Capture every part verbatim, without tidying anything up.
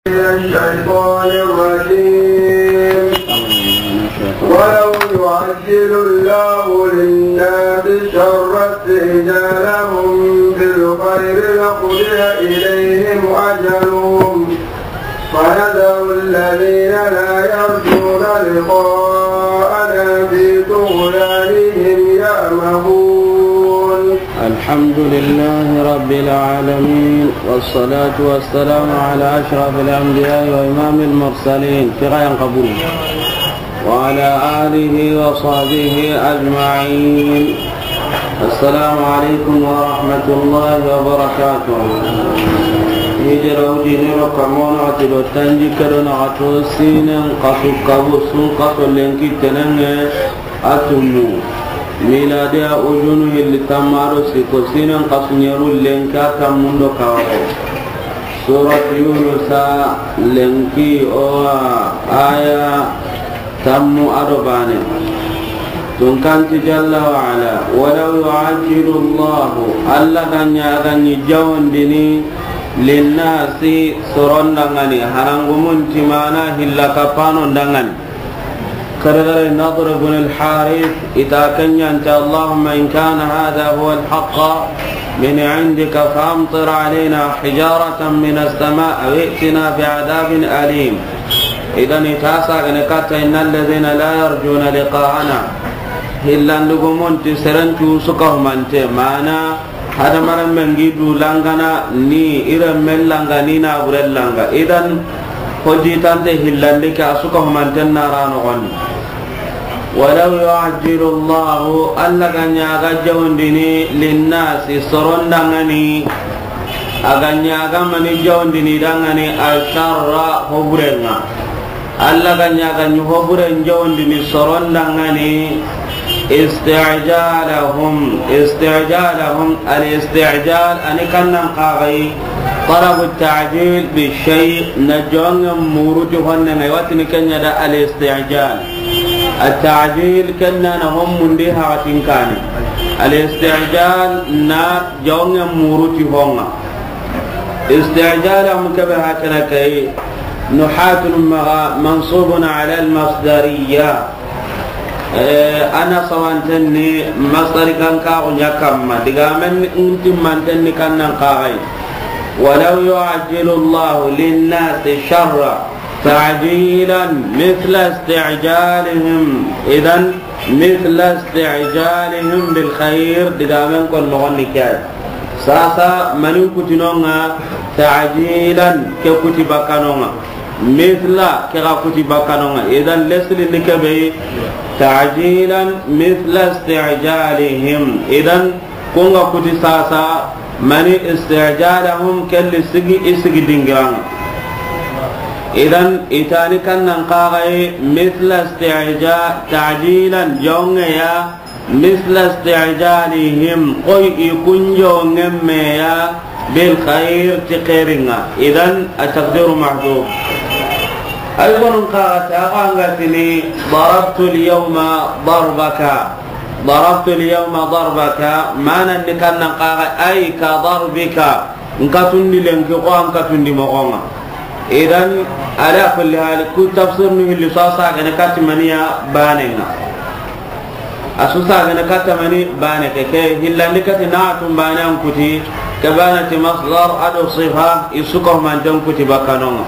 من الشيطان الرجيم. ولو يعجل الله للناس الشر استعجالهم بالخير لقضي إليهم أجلهم فنذر الذين لا يرجون لقاءنا في طغيانهم يعمهون. الحمد لله رب العالمين، والصلاة والسلام على أشرف الأنبياء وإمام المرسلين، كغاية قبول، وعلى آله وصحبه أجمعين. السلام عليكم ورحمة الله وبركاته. Hijira wujine ro kamono ati do tanjikke do naxato siinen xasu kabu sun xaso lenki tenenŋe a tunmu. Miladiya ujunu hilli tammu do sikko, siinen xasu ɲeru lenki a tammu do kawaye. Surat Yunusa lenki o wa aya tammu do baane. Tunkanti jalla wa ala, walaw yu'ajjilu Allahu, Alla ga ɲa ga ɲi jawandini, linnasi, soron danŋani, harangumun ti mana hilla kapano danŋani. Kare kare Nadr ibn al-Harith, i ta ke ɲa nti, اللهم إن كان هذا هو الحق من عندك فأمطر علينا حجارة من السماء أو ائتنا بعذاب أليم. Idan i ta sagene katta, إن الذين لا يرجون لقاءنا. Hillandugumun ti seren cu su ka humante, mana hadamarenmen gi du langana ni i renmen langa ni naaburen langa. Idan hojitante hillandi ke a su ka humanten na ra noxondi. ولو يعجل الله، Alla ga ɲa ga jawandini, linnasi, soron danŋani, a ga ɲa ga mani jawandini danŋani, الشر، hoburenŋa. Alla ga ɲa ga ɲi hoburen jawandini soron danŋani, استعجالهم، استعجالهم، الاستعجال، a ni kannan xaxayi، طلب التعجيل بالشيء، na jonŋen muruti honnenŋa, i wa tini ke ɲa da الاستعجال. التعجيل ken na na hon mundi haxatin kani. الاستعجال na jonŋen muruti honŋa. استعجالهم ke be hakana kay. Nuhatun maxa منصوب على المصدرية. Eh, a na sawanten ni masdari kan ka ɲa kamma. Digamen ntimmanten ni kannan xaxayi. ولو يعجل الله للناس الشر تعجيلا مثل استعجالهم. Idan مثل استعجالهم بالخير, digamen kon noxondi ke ay. Sasa mani kutinonŋa, تعجيلا, ke kuti bakkanonŋa. مثل, ke ga kuti bakkanonŋa. Idan lesli ni ke be, تعجيلا مثل استعجالهم. Idan konŋa kuti sasa, mani استعجالهم, kelli sigi, i sigi dingiranŋa. Idan i ta ni kannan xaxayi, مثل استعجال، تعجيلا, jonŋeya, مثل استعجالهم, xoy i kun jonŋen meya, بالخير, ti xeerinŋa. Idan التقدير محذوف. Ay gonun xaxa ta xanga tini, ضربت اليوم ضربك. ضربت اليوم ضربك, manan ni kannan xaxa, أي كضربك, n katundi lenki xo an katundi moxonŋa. Idan, ala kulli hal, ku tafsir nu hilli so a sagene kati maniya banenŋa. A su sagene kata mani bane ke, ke hillandi kati na tun bane an kuti, ke bane ti masdar a do sifa, i su ka humanten kuti bakkanonŋa.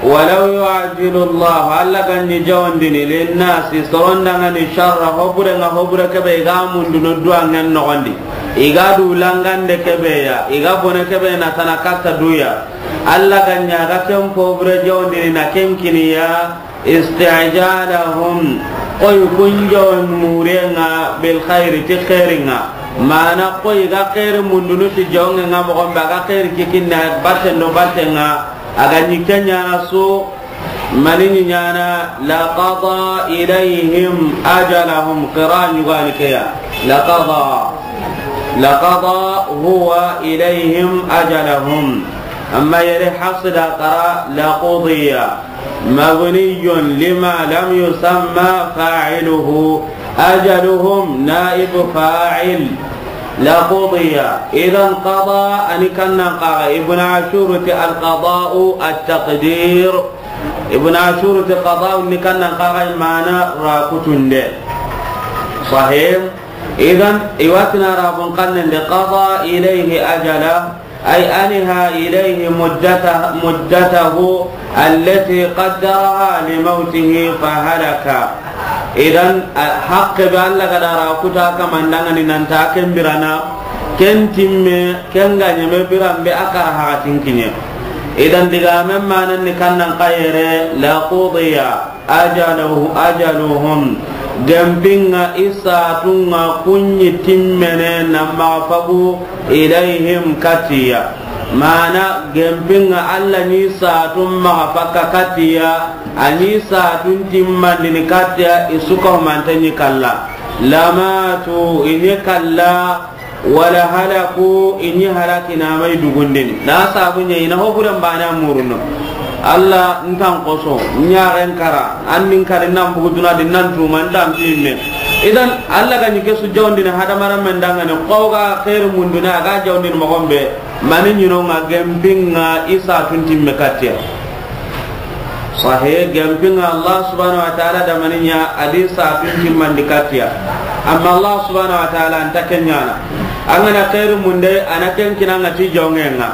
ولو يعجل الله، Alla ga ɲi jawandini, للناس, soron danŋani, الشر, hoburenŋa, hobure ke be i ga munduno duwanŋen noxondi, i ga du langande ke be ya, i ga bone ke be na tana katta duya. Alla ga ɲa ga ken hobure jawandini na ken kiniya, استعجالهم, xoy kun jawan murenŋa, بالخير, ti xeerinŋa. Mana xoy ga xeeri mundunu ti jawanŋenŋa moxon be, a ga xeeri kikinna batten do battenŋa, a ga ɲi ke ɲaana su, mani ɲi ɲaana, لقضى إليهم أجلهم, qira ɲugani ke ya. لقضى. لقضى هو إليهم أجلهم. Amma yere Hafs da qara, لقضي. مبني لما لم يسمى فاعله. أجلهم نائب فاعل. لقضي. Idan qada a ni kannan xaxa. Ibn Ashur ti al qada'u at taqdir. Ibn Ashur ti qada'u ni kannan xaxa, mana ra kutunde. Sahih. Idan i wa ti na Arabun xannen di qada ilayhi ajala, ay anha ilayhi muddata-, muddatahu allati qaddaraha li mawtihi fa halaka. Idan, a, haqqe be Alla ga da ra kuta kaman da ŋa ni nan ta ken birana, ken timme, ken ga ɲeme biran be a kara haqatin kiɲe. Idan digamen manan ni kannan xa yere, la qudiya ajaluhu-, ajaluhum. Gempinŋa i satunŋa kuɲi timmene na maxa fagu ilayhim katiya. Mana gempinŋa Alla ni satun maxa fakka katiya, a ni satun timmandini katiya, i su ka humante ɲi kalla. Lamatu, i ɲi kalla, wala halaku, i ɲi halaki na ma i dugundini. Na sabu ɲa i na hoburen bana muruno. Alla ntan koso, ɲaren kara, an nin kari nan bugu duna di nan tuma ntan pimme. Idan, Alla ga ɲi ke su jawndini hadamarenmen da ŋa ni, xo ga xeeri munduni, a ga jawndini moxon be, mani ɲinonŋa gempinŋa i satun timme katiya. Sahe, gempinŋa Allah subhanahu wa ta'ala da mani ɲa, a di satun timmandi katiya. Amma Allah subhanahu wa ta'ala a nta ken ɲaana. An ga na xeeri munde, a na ken kinanŋa ti jonŋenŋa.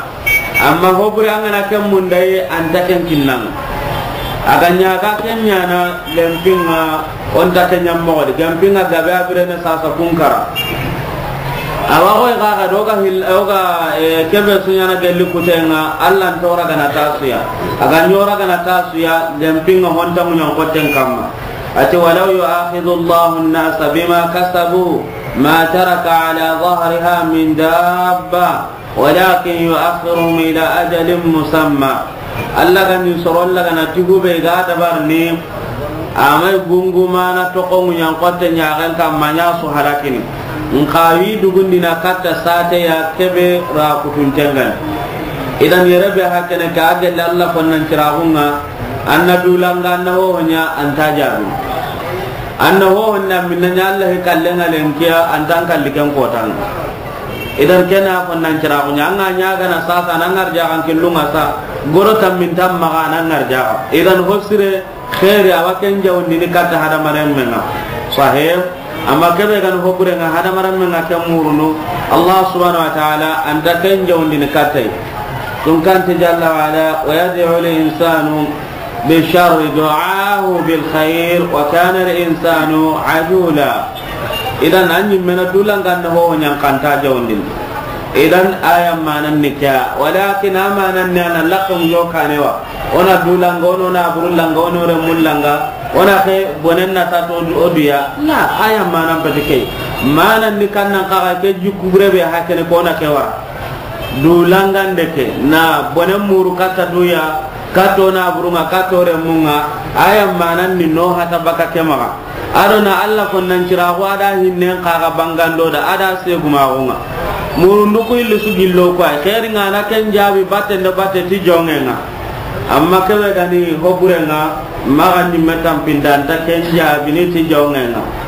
Amma hobure an ga na ken munde, a nta ken kinanŋa. A ga ɲa ga ken ɲaana, gempinŋa o nta ken ɲa moxo di. Gempinŋa gabe a birene sasa kun kara. Awa xoy xaxa do ga hil-, o ga, eh, kebe su ɲaana gelli kutenŋa, Allah nta o ragana ta su ya. A ga ɲa o ragana ta su ya, gempinŋa honta muɲan xoten kamma. A ti, walaw yu'akhidhu Allahu an-nasa bima kasabu, ma taraka ala dhahriha min dabba, walakin yu'akhiruhum ila ajalin musamma. Allah ga ni soron lagana ti hube ga dabarni, a ma i gungumana toxo muɲan xote ɲaxen kamma ɲa su halakini. Nxa wi dugundina katta sate ya kebe ra kutuntenŋa ni. Idan yere be hakene ka a gelle Allah konnan ciraxunŋa, an na dulanga, an na hohoɲa, a nta jaabi. An na hohoɲa minna ɲa Allah hi kallenŋa lenkiya, a nta an kalli ken kotanŋa. Idan ken na konnan ciraxuɲa, an ga ɲa gana sasa, a na ŋarjaxan killunŋa sa, goro tammin tammaxa, a na ŋarjaxa. Idan hosire, xeeri, a wa ken jawundini katta hadamarenmenŋa. Sahe, amma kebe ga ni hoburenŋa hadamarenmenŋa ken murunu, Allah subhanahu wa ta'ala a nta ken jawundini katta yi. Tun kanti jalla wa ala, wa yad'u al-insanu بالشر دعاءه بالخير وكان الإنسان عجولا. Idan an ɲimme na dulanga na hohoɲan xa a nta jawundini. Idan aya manan ni ke ya. Walakin a manan ni a na laxon yo kanewa. O na dulanga, o na burulanga, o na remullanga. O na xe bonen na ta to o duya. Na aya manan pete ke. Manan ni kannan xaxa ke jikku bure be hakene ko na ke wara. Dulangande ke, na bonen muru katta duya, katta o na burunŋa, katta o remunŋa, aya manan ni no hata baka ke maxa. A do na Allah konnan ciraxu a da hinnen xaxa bangando da, a da segumaxunŋa. Murundu ku illi su gillo ku ay, xeerinŋa na ken jaabi batten do batte ti jonŋenŋa. Amma kebe ga ni hoburenŋa, maxa ɲimme tampinda, a nta ken jaabini ti jonŋenŋa.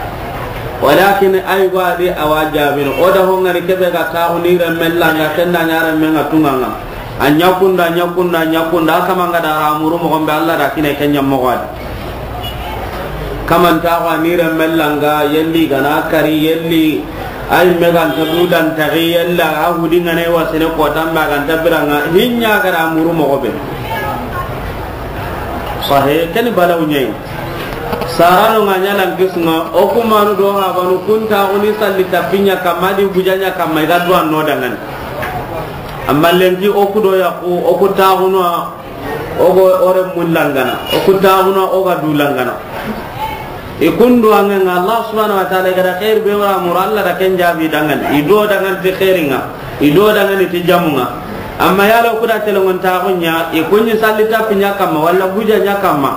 Walakin ay go a di a wa jaabini. O da honŋari kebe ga taxu ni renmen langa, ken da ɲa renmenŋa tunŋanŋa. A ɲa kunda, a ɲa kunda, a ɲa kunda, a kamanga da ra muru moxon be, Allah da kine ken ɲa moxo a di. Kaman taxu a ni renmen langa, yelli ga na kari, yelli Ay, me ga nta du dan taxi yalla, a hudi ŋa ne wasene ko tamba ga nta biranga, hinya ga da muru moxo be. Sahe, ken balaw ɲa yi. Sarano ŋa ɲa lan kisŋa, o ku manu do habanu kun taxu ni salli tappiɲa kamma di bujaɲa kamma i ga duwa no dangan. Amma lenki o ku do yaqu, o ku taxu no, o go o renmu langana, o ku taxu no, o ga du langana. I kundu angenga Allah subhanahu wa ta'ala, i ga da xeeri be wara muru, Allah da ken jaabi dangan, i do dangan ti xeerinŋa, i do dangan ti jamunŋa. Amma yala o ku da telenŋon taxu ɲa, i ku ɲi salli tappiɲa kamma, walla bujaɲa kamma.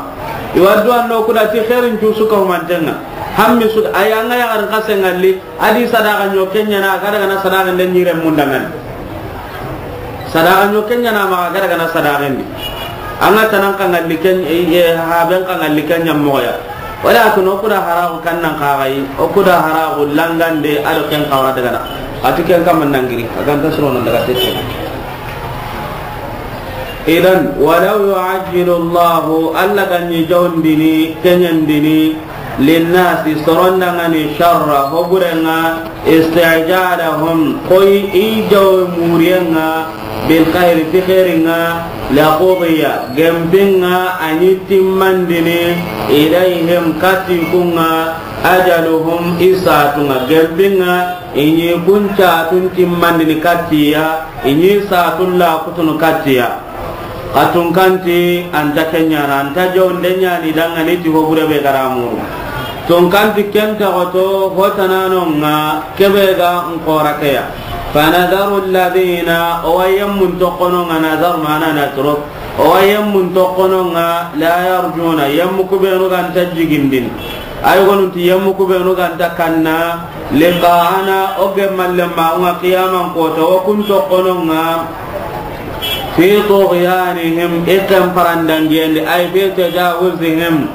I wa duwa no ku da ti xeerin cu su ka humantenŋa. Hammi su, ay anga yaxarin xasenŋa li, a di sadaxa ɲo ke ɲaana, a ga daga na sadaxa nde ɲi renmu dangan. Sadaxa ɲo ke ɲaana maxa, a ga daga na sadaxen di. Anga tanan xanŋalli ken, eh, haben xanŋalli ken ɲa moxo ya. Wala a tun o ku da haraxu kannan xaxayi, o ku da haraxu langande, a do ken xawra daga na. A ti ken kamma nangiri, a ga nta sirono daga tete. Idan, walaw yu'ajjilu Allahu, Alla ga ni jawndini, kenyandini, linnasi, soron da ŋa ni, sharra, hoburenga, isti'jalahum, koy i jaw muriyenga, bil khairi, ti khairinga, la qudiya, gempinga, a ni timmandini, ilayhim, kati kunga, ajaluhum, i satunga, gempinga, i ni kun satun timmandini katiya, i ni satun la kutunu katiya. Xa tunkanti anta kenyana, anta jawnde nyani dangani ti hobure be garamuru. Tunkanti kenta goto hotananonga kebe ga nkora keya. Fanadaru alladhina, o wa yemmun tokononga, nadar mana natro. O wa yemmun tokononga, la yarjuna, yemmu kubenu ganta jigindini. Ay gonunti yemmu kubenu ganta kanna, liqa'ana, o gemmalle maunga qiyaman kota, o kun tokononga, fi tughyanihim, i ken parandangendi, ay fi tajawuzihim.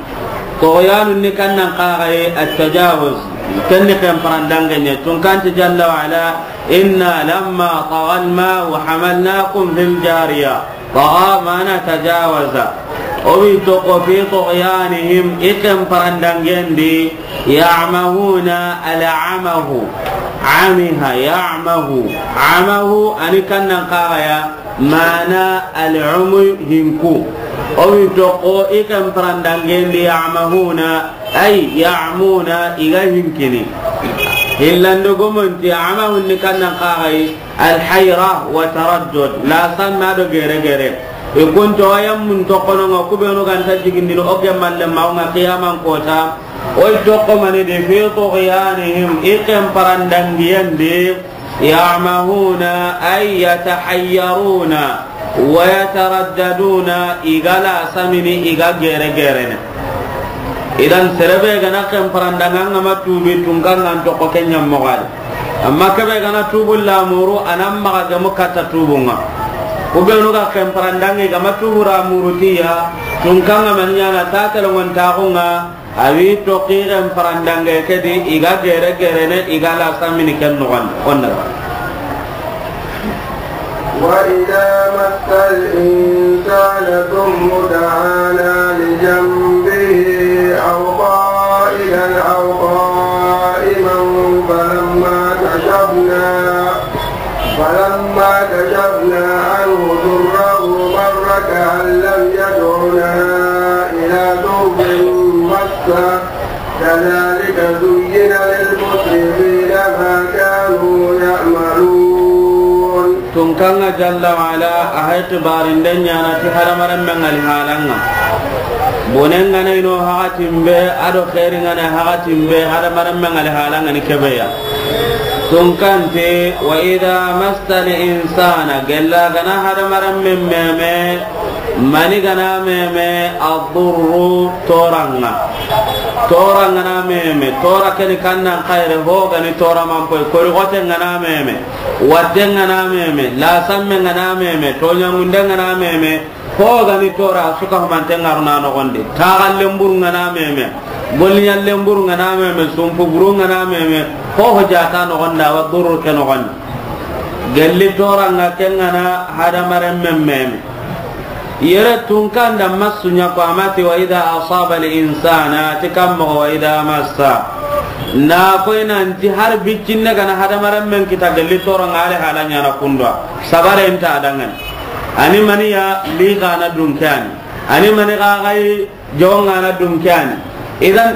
Tughyanu ni kannan kaxaye, at-tajawuz. Ken ni ken parandangenye, tunkanti jalla wa ala, inna lamma tagha al-ma'u hamalnakum fil jariya. Tagha mana tajawaza. O wi toko fi tughyanihim, i ken parandangendi, ya'mahuna, al-amahu. Amiha, ya'mahu. Amahu, a ni kannan kaxaya, mana al-umu hinku. O wi toko i ken parandangendi, ya'mahuna, ay ya'muna, i ga hinkini. Hillando gomonti, amahu ni kannan kaxay, Alhayra wa taraddud, la sanna do gere gere. I kunto ayam mun tokono nga kubenu ganta jigindino o gemmalle maunga qiyaman kota. Oy toko mani de fi tughyanihim, i ken parandangiyendi, ya'mahuna ay yatahayyaruna wa yataraddaduna, i ga la samini, i ga gere gerene. Idan serebe gana ken parandanga nga ma tubi tunkangan toko kenya mogadi. Amma kebe gana tubu lamuru, anan maxa gemu katta tubunga. Kubenu ga ken parandangi ga ma tubu ramuru tiya, tunkanga man nyana ta telongon taxunga, awi toki ken parandange kedi, i ga gere gerene, i ga la samini ken noxon, onna. وإذا مس الإنسان الضر دعانا لجنبه أو قاعدا أو قائما فلما كشفنا، فلما كشفنا عنه ضره مر كأن لم يدعنا إلى ضر مسه كذلك زين للمسرفين ما كانوا يعملون. Tunkanga jalla wa ala, a hay xibaarinden ñaana ti hadamaren men ŋa li halanga. Bonen ŋa na ino hakatin be, ado xeerin ŋa na hakatin be, hadamaren men ŋa li halanga ni kebeya. Tunkante, wa idha massal insana, gella gana hadamaren men meme, mani gana meme, adurru, toranga. Toranga na meme, tora keni kannan xayre, ho gani tora manpoy, kori xoten gana meme, watten gana meme, lasammen gana meme, toñamunden gana meme, ho gani tora suka humanten garuna noxondi, taxallen burun gana meme, golliñallen burun gana meme, sumpu burun gana meme, ho ho jata noxonda, wa durru ke noxondi. Gelli toranga ken gana hadamaren men meme. Yere tunkanda massu ña ko amati wa idha asaba al insana, ti kammo wa idha massa. Na koy nanti har biccinne gana hadamaren men kita gelli toranga ale hala ñana kundwa. Sabare nta dangan. Ani mani ya li gana dunke ani. Ani mani ga gai Jawon ŋa na dun ke ani. Idan,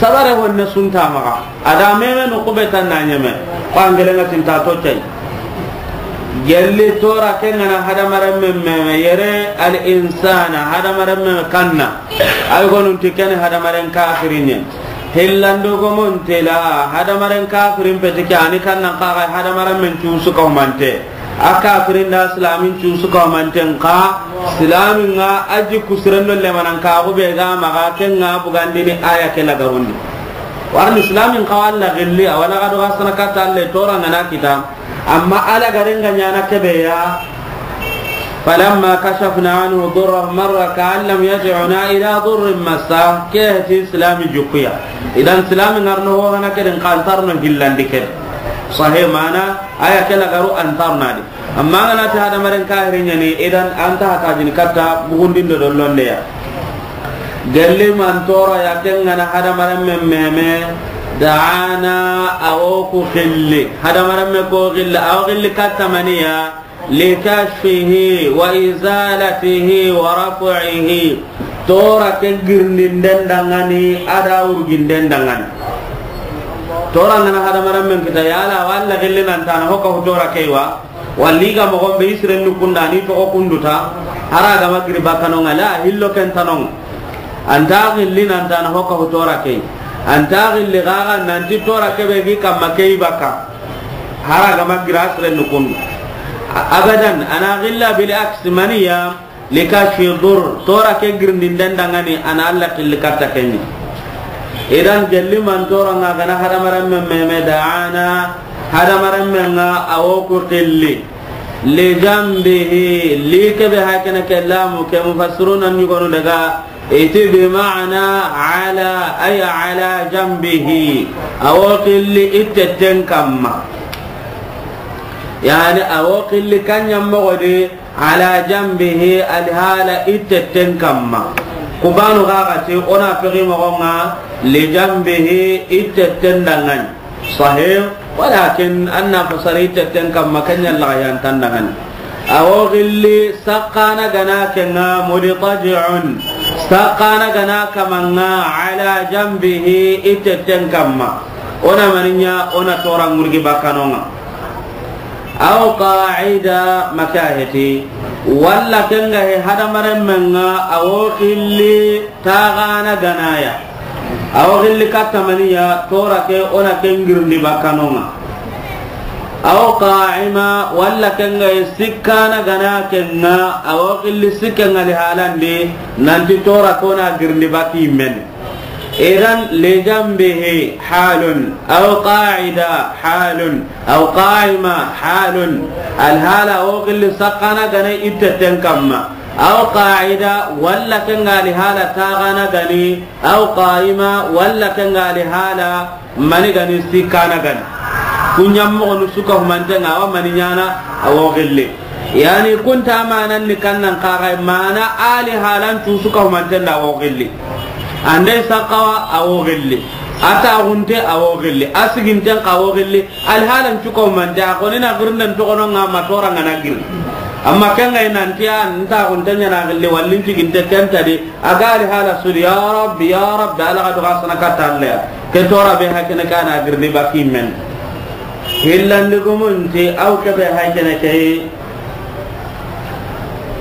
sabare honne sunta maxa. A da meme no kube tan na ñeme. Ko angele ŋa tinta to cay. Gelli tora ke ŋa na hadamaren men meme yere al insana hadamaren men kanna. Ay gonun ti ken hadamaren kafirinye. Hillando gomon tela hadamaren kafirin peti ke ani kanna kaga hadamaren men cusu kaumante. A kafirin da silamin cusu kamanten ka, silamin ŋa a ji kusiren do lemanan ka, xo be ga maxa ken ŋa bugandini aya ke lagarundi. Warni silamin ka walla gilli, a wala ga do ga sana katta Alla toranga na kita. Amma ala garenga ñana kebeya. Falamma kashafna anhu durrahu marra ka'an lam yad'una ila durrin massa, ke ti silami jukuya. Idan silami ngarno ho hana keden kantarno hillandi kede. Sahe mana, a ya ke lagaru an tarna di. Amma an ga na ti hadamaren kahiri ɲa ni, idan an ta hata jini katta bugundindo do londeya. Gelli man tora ya ken ga na hadamaren men meme, da'ana, a wo ku xilli. Hadamaren me ko xilli, a wo xilli katta maniya, likashfihi wa izalatihi wa raf'ihi. Tora ke girndinden dangani, a da wurginden dangani. Tora ngana hadamaren men kita, yala walla xilli nan tana hoka hu tora keiwa, walli ga mogon be isiren nukunda ni toxo kunduta, hara gama giri bakkanonga la hillo ken tanong. Anta xilli nan tana hoka hu tora kei. Anta xilli gaga nanti tora kebe gi kamma kei bakka. Hara gama gira sire nukundu. A-, abadan, ana xilla bil aksi maniya, likashfi dur, tora ke girndinden dangani, ana Alla xilli katta kenni. Idan gelli man tora nga gana hadamaren men meme da'ana, hadamaren men nga a wo ku xilli. Li jambihi, li kebe hakene ke lamu ke mufassiruna ɲugonu daga, iti bi ma'ana ala, ay ala jambihi. A wo xilli ittetten kamma. Yani a wo xilli kanyan mogodi ala jambihi, alhala ittetten kamma. Kubanu gagati ona fegi mogonga li jambihi ittetten dangani. Sahih, walakin anna fasari tetten kamma kanya la yan tandangan. A wo xilli sakkana gana kenga mudtaji'un. Sakkana gana kamanga ala jambihi ittetten kamma. Ona maninya, ona tora ngurgi bakkanonga. Aw qa'ida makaheti. Walla kenga he hadamaren menga a wo xilli taxana ganaya. A wo xilli katta maniya, tora ke, ona ke ngirndi bakkanonga. Aw qa'ima, walla kenga sikkana gana kenga, a wo xilli sikkenga li halandi, nanti tora kona girndi bakki men. Idan, li jambihi halun, aw qa'ida halun, aw qa'ima halun. Alhala a wo xilli sakkana gana ittetten kamma. Aw qa'ida, walla kenga li hala taxana gani, aw qa'ima, walla kenga li hala mani gani sikkana gani. Kunyam moxonu suka humantenga awa mani ɲana a wo xilli. Yani kunta manan ni kannan kaxay mana ali halan cu suka humanten da a wo xilli. Ande sakawa a wo xilli. A taxunte a wo xilli. A siginten ka wo xilli. Alhalan cuko mante, a koni na girnden toxono nga ma tora nga na gir. Amma kenga nanti a nta gunte ɲana gilli wallin ciginte kenta di, a ga ali hala sudi, ya Rabbi, ya Rabbi, ala ga duga sana katta Alla ya. Ke tora be hakene kana girndi bakki men. Hillandi gumunti, aw ke be hakene ke.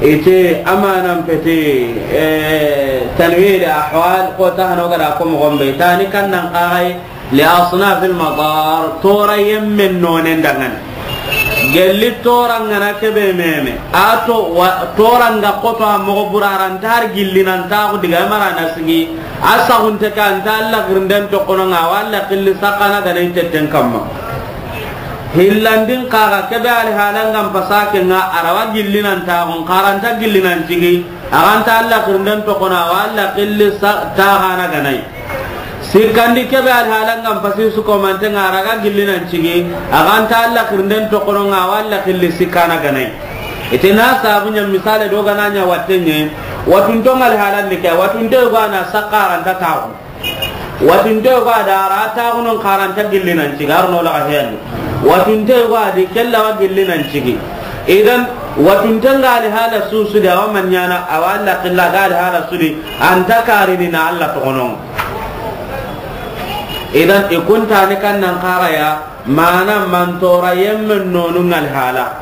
Ite amanan peti, eh, tanwir ahwal, ko ta hano gada ko mo gombe. Tani kannan kaxay, li asnafil madar, tora yemmen nonen dangani. Gelli tora ngana kebe meme. Ato wa, tora nga koto a mogo buraran tar gilli nan ta ko diga mara na sigi. Asa gunte kan ta Alla girnden toxono nga walla xilli sakana gana ittetten kamma. Hillandin kaga kebe ali halangam pasake nga arawa gilli nan ta gon karanta gilli nan cigi. Aganta Alla girnden toxono wa Alla xilli sa taxana ganai. Sikkandi kebe alhalangam pasi su komante nga araga gilli nan cigi. Aganta Alla girnden toxono nga wa Alla xilli sikkana ganai. Ite na sabu ɲa misale do gana ɲa wattenye. Watuntonga alhalandi ke, watunte gana sakkaranta taxu. Watinte yogo a da ra taxunon karanta gilli nan cigi, arno laga heyandi. Watinte yogo a di kella wa gilli nan cigi. Idan, watinte nga ali hala susu de, awa manɲana, awa Alla xilla ga ali hala sudi, anta karini na Alla toxonon. Idan, i kuntani kannan kaxaya, Mana man tora yemmen nonu ngal hala.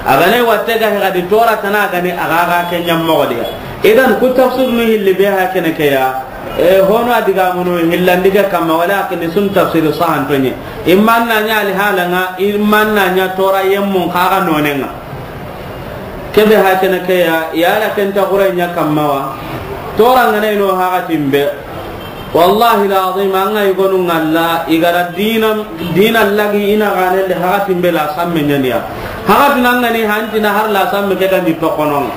Agane watte ga hegadi tora tana gani agaga ke ɲammoxodiya. Idan ku tafsir nu hilli be ha kene ke ya. E, hono adiga munu hillandiga kamma wala akini sun tafsir sahantonye. Imman na ɲa ali halanga, imman na ɲa tora yemmun kaga nonenga. Kebe ha kene ke ya, yala kenta xure ɲa kamma wa. Tora ngana ino hakatin be. Wallahi lazim, an ga yigonu ngalla, i gara dina, dina lagi ina gane de hakatin be la samme ɲaniya. Hakatin an gani hantina har la samme ke gandi toxonon.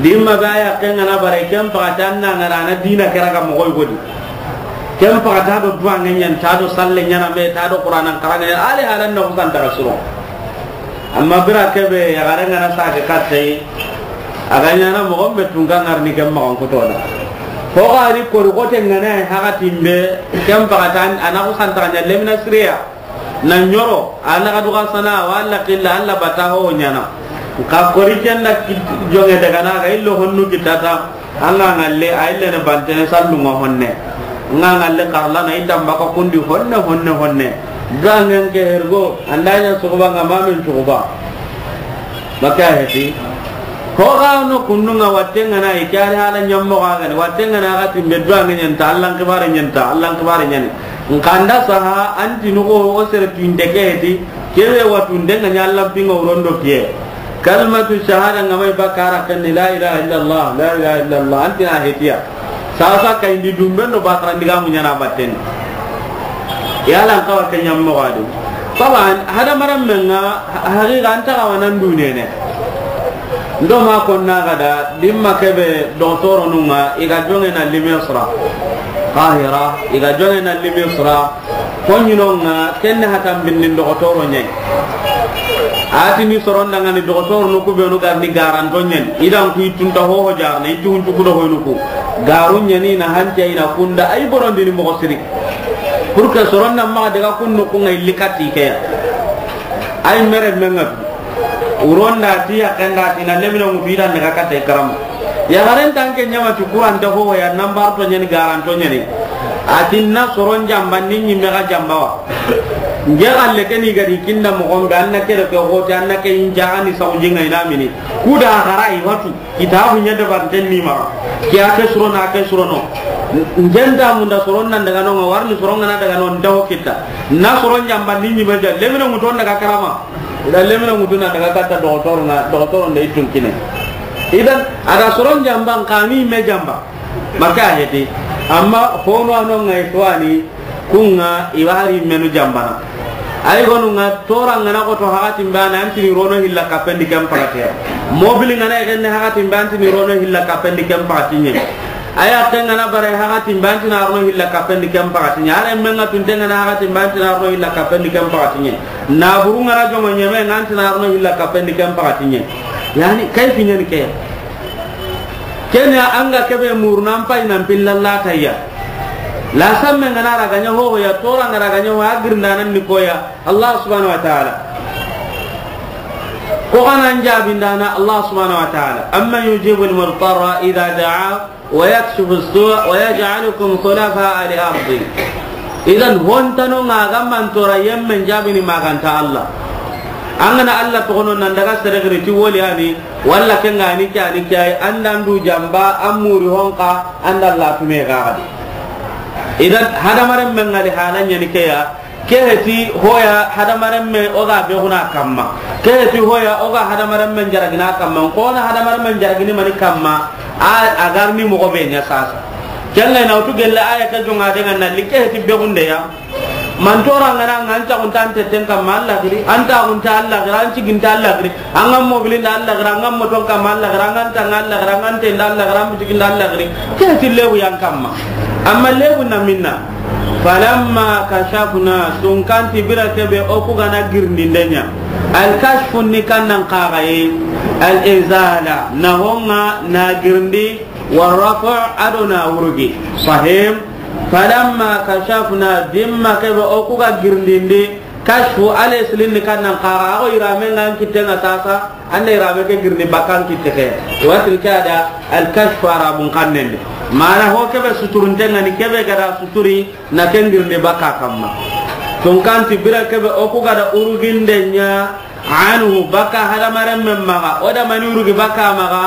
Dimma ba ya ke ngana bare ken pakati an na ngara na dina kera ga moxo yigodi. Ken paxa ta do duwanŋe ɲa ni, ta do salle ɲaana me, ta do Qur'anan xaranŋe ɲa ni, a li halan na xusan ta suro. Amma bire ke be yaxare ŋa na sage katta yi, a ga ɲaana moxo be tunka ŋarini ken maxan kuto da. Xo xa ri kori xote ŋa na yi haxatin be, ken paxa ta a na xusan ta ɲa lemina sire ya. Na ɲoro, a na ga duga sana, walla killa, alla bata ho ɲaana. Ka kori ken da kit-, joŋe daga na ga illo honnu kitata, an ga ŋalle, a ille ne bantene sallunŋa honne. An ga ŋalle karla na i tamba ka kundi honne, honne, honne. Duwanŋen ke hergo, an da ɲa suxuba ŋa ma men suxuba. Maka heti. Xo xa no kundu ŋa watte ŋa na i ke a li hala ɲa moxo ga ni, watte ŋa na ga timbe duwanŋe ɲa ni ta, allan xibare ɲa ni ta, allan xibare ɲa ni. Nxa an da saha, an ti noxo o sere tuwinte ke heti, ke be watunde ŋa ɲa allan pinŋa wuron do kiye. Kalimatu shahada ŋa ma i bakka ra ken ni la ilaha illallah, la ilaha illallah, an ti na hetiya. Sasa kayindi dumben do bakarandigamu ɲaana batten. Yala an xawa ke ɲa moxo a di. Taban, hadamarenmen ŋa, ha-, haqiqa an ta xawa nan dunene. Ndo ma konna ga da, dimma ke be doxotoronun ŋa, i ga joŋe na li Misra. Qahira, i ga joŋe na li Misra. Ko ɲinon ŋa, ken ni hatan binnin doxotoro ɲa yi. A ti ni soron da ŋa ni doxotoronu ku benu ga ni garanto ɲa ni. I dan ku i tunta hoho jarana, i tun cuku do hoynu ku. Garu ɲa ni na hante i na kunda, ay borondini moxo siri. Pour que soron na maxa daga kun noxu ŋa illi kati ke ya. Ay mere menga. Wuron da ti ya ken da ti na lemina ŋutu i dan daga kata i karama. Yaxaren tanke ɲa ma ti kurante ho ya nambar to ɲa ni garanto ɲa ni. A ti na soron jamba ni ɲi me ga jamba wa. Nge xalle ke ni ga di kinda moxo be an na ke do ke hote an na ke inja ani sawji ŋa i na mini. Kuda xara i watu. Kitaabu ɲa dabarnten ni maxa. Ke a ke surono, a ke surono. N-, n-, jenta munda soron nan daga no ŋa, warni soron ŋa na daga no, n dawo kita. Na soron jamba ni ɲi ma ja, lemina ŋutu n daga karama. Ida lemina ŋutu na daga katta doxotoro na, doxotoro nda i tun kine. Idan, a da soron jamba, n xa ni me jamba. Maka heti. Amma, hono ano ŋa i suwani, Kunŋa, i wa hari menu jambana. Ay gonu ŋa, tora ŋa na xoto haxatin be a na, an ti ni rono hilla kapendi ken paxati ya. Mobili ŋa na i genne haxatin be, an ti ni rono hilla kapendi ken paxati ɲe. Aya ke ŋa na bare haxatin be, an ti na rono hilla kapendi ken paxati ɲe. Are men ŋa tunte ŋa na haxatin be, an ti na rono hilla kapendi ken paxati ɲe. Naburu ŋa na joŋo ɲeme ŋa, an ti na rono hilla kapendi ken paxati ɲe. Yani, kayfi ɲa ni ke. Kenya an ga ke be muru nan pay nan pilla la tayya. La samme ŋa na ra ga ɲa ho ya, tora ŋa ra ga ɲa ho, a girndanan ni ko ya. Allah subhanahu wa ta'ala. Ko xa na n jaabindana Allah subhanahu wa ta'ala. Amman yujibul mudtarra idha da'a wa yakshifu as-su' wa yaj'alukum khulafa al-ardi. Idan hontano ŋa ga mantora yemmen jaabini ma ga nta Allah. An ga na Allah toxono nan daga sere giri ti woli ani, walla ke ŋa ni ke ani ke ay, an da n du jamba, an muri honka, an da Allah tume ga gadi. Idan hadamaren men ŋa di hala ɲa ni ke ya, ke heti hoya hadamaren me o ga be guna kamma. Ke heti hoya o ga hadamaren men jaragina kamma. Ko na hadamaren men jaragini mani kamma, a, a garni moxo be ɲa sasa. Ken ŋa na wutu gelle aya ke joŋa de ŋa na li ke heti be gunde ya. Mantora ŋa na ŋa an taxunta an teten kamma Allah giri, an taxunta Allah giri, an ciginta Allah giri, an ŋa mobilin da Allah giri, an ŋa moton kamma Allah giri, an ŋa tanga Allah giri, an ŋa tenda Allah giri, an bitiginda Allah giri. Ke ti lebu yan kamma. Amma lebu na minna. Falamma kashafna, tunkanti bire ke be o ku ga na girindinde ɲa. Al kashfu ni kannan xaxaye. Al izala, na honŋa na girindi, wa rafa' a do na wurugi. Sahim. Falamma kashafna, dimma ke be o ku ga girindindi, kashfu ale silin ni kannan xaxa, a go irame ŋa an kitte ŋa sasa, an da irame ke girindi bakka an kitte ke. Watil ke a da al kashfu arabun xannen di. Mana ho ke be suturunte ŋa ni ke be ga da suturi na ken girindi bakka kamma. Tunkanti bire ke be o ku ga da uruginde ɲa, anhu, bakka hadamaren men maxa, o da mani urugi bakka maxa,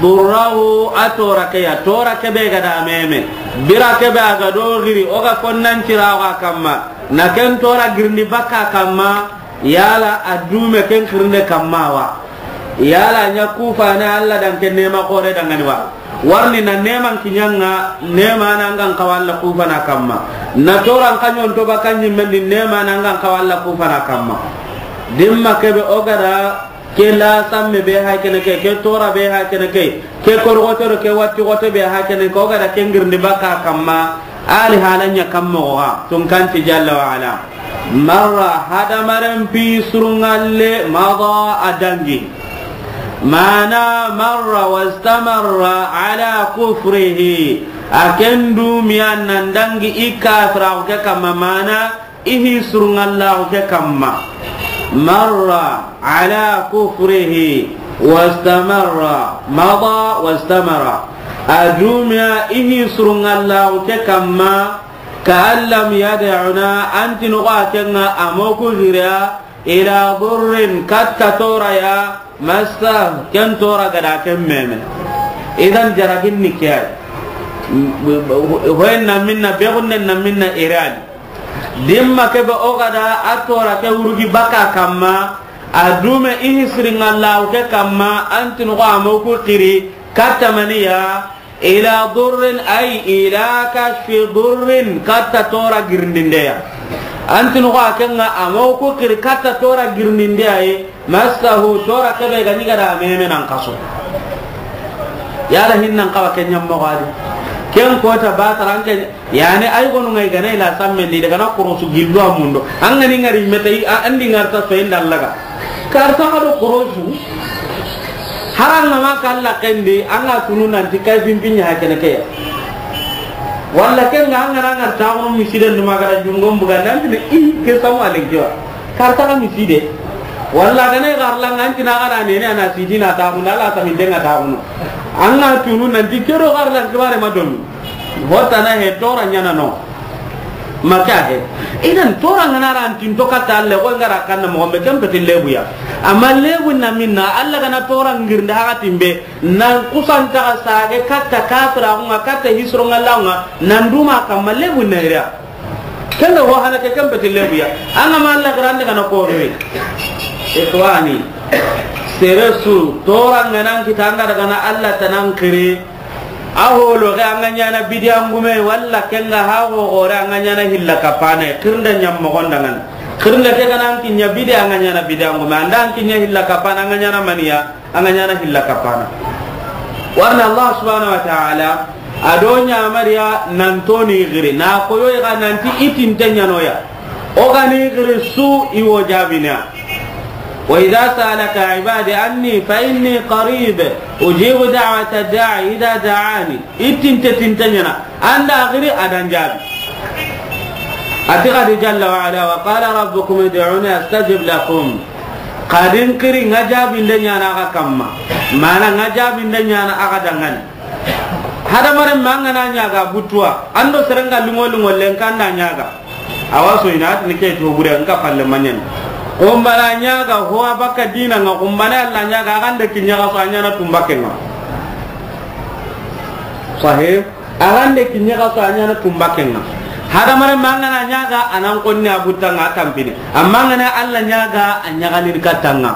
durrahu, a tora ke ya, tora ke be ga da meme. Bire ke be a ga do giri, o ga konnan cira o ga kamma. Na ken tora girindi bakka kamma, yala a dume ken xirinde kamma wa. Yala ɲa kufane Allah dan ken nema xore dangani wa. Warni na neman kiɲa ŋa, nema na ŋa n xawa Allah kufana kamma. Na toran kaɲon to bakka ɲimmen di nema na ŋa n xawa Allah kufana kamma. Dimma ke be o ga da ke la samme be ha kene ke, ke tora be ha kene ke, ke korgoto do ke watti goto be ha kene ke, o ga da ke girindi bakka kamma. Ali halanya kammo ga tunkanti jalla wa ala. Marra, hadamaren pi surungalle, mada, a dangi. Mana marra wastamarra ala kufrihi. A ken dumiya nan dangi i kafira ke kamma, mana i hi surungallahu ke kamma. Marra ala kufrihi wastamarra, mada wastamara. A dumiya i hi surungallahu ke kamma, ka an lam yad'una, anti nuga kenga amoku gira, ila durrin, katta toraya, massa, ken tora gada ken meme. Idan jaragin ni kiyai. Hoyen na minna, begunnen na minna irani. Dimma kebe o gada a tora ke wurugi baka kamma, a dume i hi siringallahu ke kamma, anti nuga amoku kiri, katta maniya, ila durrin, ay ila kashfi durrin, katta tora girindindeya. Anti nuga kenga amoku kiri katta tora girindindeya ye, massahu, tora kebe ga ni gada meme nan kaso. Yala hinnan kawa ken nyammo gadi. Ken kota ba taranke, yani ay gonu ngai gana ila sammendi daga na korosu gillu amundo. An gani ngari meta i, a, andi ngarta so inda laga. Karta ga do korosu. Haranga ma kalla kendi, anga tunu nanti kai pimpin ya kene ke. Walla kenga anga na ngarta gonu misiden duma gara jungom buga nanti i ke samu alen kiwa. Karta ga miside. Walla gane garla nganti na gara nene ana sidina ta gunda la ta mindenga ta gunu. Anga tunu nanti kero garla kibare madomi. Hotana he tora nyana no. Maka he. Idan tora ngana ran tinto kata alle ko ngara kanna mo be kan pete lebuya. Amma lebu na minna alla gana tora ngirnda haga timbe nan kusanta sage katta kafira nga katta hisro ngalla nga nan duma kamma lebu na ira. Kenda ho hana ke kan pete lebuya. Anga ma alla grande kana ko re. Ikhwani. Seresu tora ngana kitanga daga na alla tanan kire. A holo ke an ga ɲana bidiya ngume, walla kenga ha ho gore an ga ɲana hilla kapana, kirnda ɲam mogon dangan. Kirnda ke ganan kinya bidiya an ga ɲana bidiya ngume, anda an kinya hilla kapana an ga ɲana maniya, an ga ɲana hilla kapana. Warna Allah subhanahu wa ta'ala a do ɲamariya nan toni giri na koyo ga nanti itinte ɲanoya. O gani giri su i wo jabina. Wa idha sa'alaka ibadi anni fa inni qarib ujibu da'wata da'i idha da'ani. Itinte tinte ɲana. Anda giri adan jabi. Ati gadi jalla wa ala wa qala rabbukum ud'uni astajib lakum. Kadin kiri nga jabinde ɲana aga kamma. Mana nga jabinde ɲana aga dangan. Hadamaren ma an gana ɲaga butuwa, ando serenga lungo lungo lenkanda ɲaga. Awa so ina atini ke to bure nka palle manyen. Kumbana ɲaga ho abaka dina nga kumbana alla ɲaga agande kinya ga so anyana tumbakenga. Sahih. Agande kinya ga so anyana tumbakenga. Hadamaren ma an gana ɲaga anan konni abutanga tampini. Amma an gana alla ɲaga anyaga ni katanga.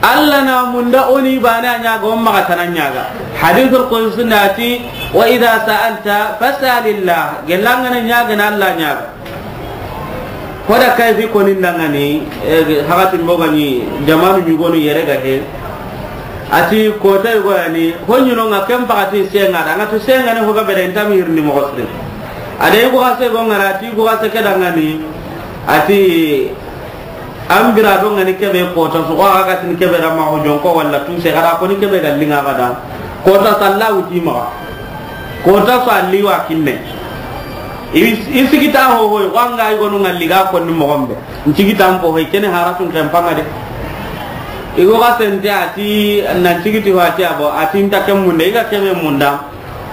Alla na munda oni bana ɲaga o maga tana ɲaga. Hadithul qudsi nati, wa idha sa'alta fas'alillah. Gelangana ɲaga na alla ɲaga. Koda kayfi koni ndangani, eh, hakatin bogani jamanu ɲugonu yere ga he. Ati kota yugo yani, honyuno nga kem pakati senga da, nga tu senga ne hoga bere ntami hirni mo gosre. Ade yugo ase go ngara ati yugo ase kedangani. Ati An bira do ngani kebe kota su, ko aga tin kebe da ma ho jonko walla tu se gara ko ni kebe ga linga ga da. Kota sallahu ti ma. Kota salli wa kinne. Is-, isigita ho ho, ko anga i gonu ngalli ga ko ni mo gombe. Nsigita mpo ho kene haratun kan panga de. Igo ga sente ati nan sigiti ho ati abo, ati nta kem munde, iga kebe munda.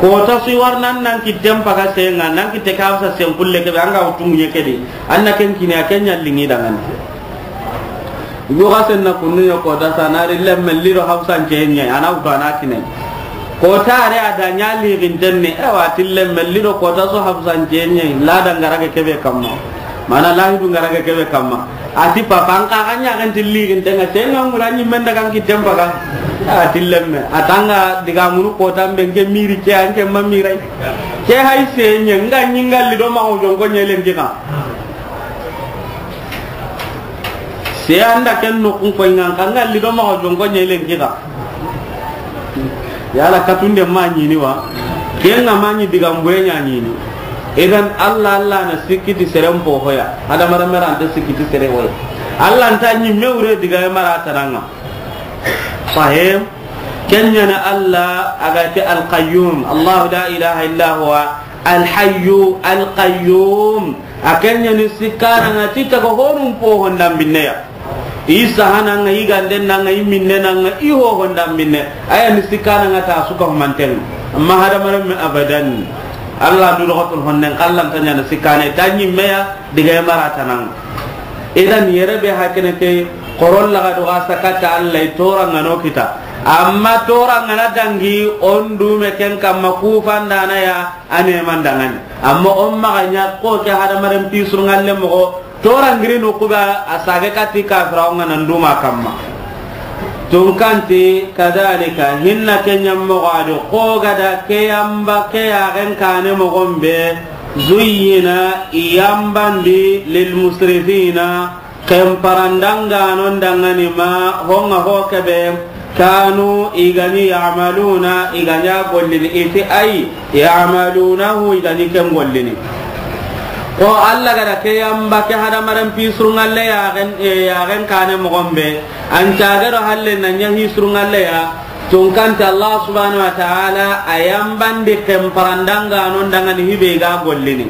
Kota su i war nan, nan kitten paga senga, nan kitte ka fisa sen kulle kebe, anga wutu ŋuɲe kedi. Anna ken kini a ken ɲa lingi dangani. Igo ga senna kunnu yo kota sa na ri lemme lido hausan cenye, ana wutu ana kine. Kota are a da ɲa li ginten ni, ewa ti lemme lido kota su hausan cenye, la dangara ke kebe kamma. Mana lahidu ngara ke kebe kamma. Ati papa an ka ga ɲa kan tilli gin tenga tenga mura ni men daga ki tempa ga. Ati lemme. Atanga diga munu kota mbe nge miri ke anke ma mirai. Ke hay se nye nga nyinga lido ma ho jonko nye lenki ka. Se anda ken no kun ko nga nga lido ma ho jonko nye lenki ka. Yala katunde ma ɲini wa. Ken ŋa ma ɲi digan buye ɲaɲini. Idan Allah, Allah na sikki ti seren po hoya. Hadamarenme ra nta sikki ti sere hoya. Allah nta ɲimme wure digaye mara tananga. Sahih. Ken ɲa ni Allah a ga ti Al-Qayyum. Allahu la ilaha illa huwa Al-Hayyu Al-Qayyum. A ken ɲa ni sikkananga ti taga honun po hondan binne ya. I sahananga, i gandenanga, i minnenanga, i hohondan binne. A ya ni sikkananga ta su ka humanten. Amma hadamarenme abadan. Allah du doxotul honnen kallan ta ɲa ni sikkane ta ɲimme ya digaye mara tananga. Idan yere be hakene ke koron laga do ga sakata Allah i toranga no kita. Amma toranga na dangi on dume ken kamma kufandana ya a neman dangani. Amma on maxa ɲa ko ke hadamaren pisurungalle moxo torangiri no kuba a sage kati kafira on ga nan duma kamma. Tunkanti kadalika hinna ke ɲammoxo a do ko gada ke yamba ke yaxen kane moxon be. Zuyyina i yambandi lilmusrifina. Ken parandanganon dangani ma honga ho kebe kanu i gani yamaluna i gani a gollini iti ay yamalunahu i gani ken gollini. Ko Allah gada ke yamba ke hadamaren pisurungalle yaxen, e, yaxen kane moxon be an cagero halle na ɲa hisurungalle ya. Tunkante Allah subhanahu wa ta'ala a yambandi ken parandanganon dangani hibe ga gollini.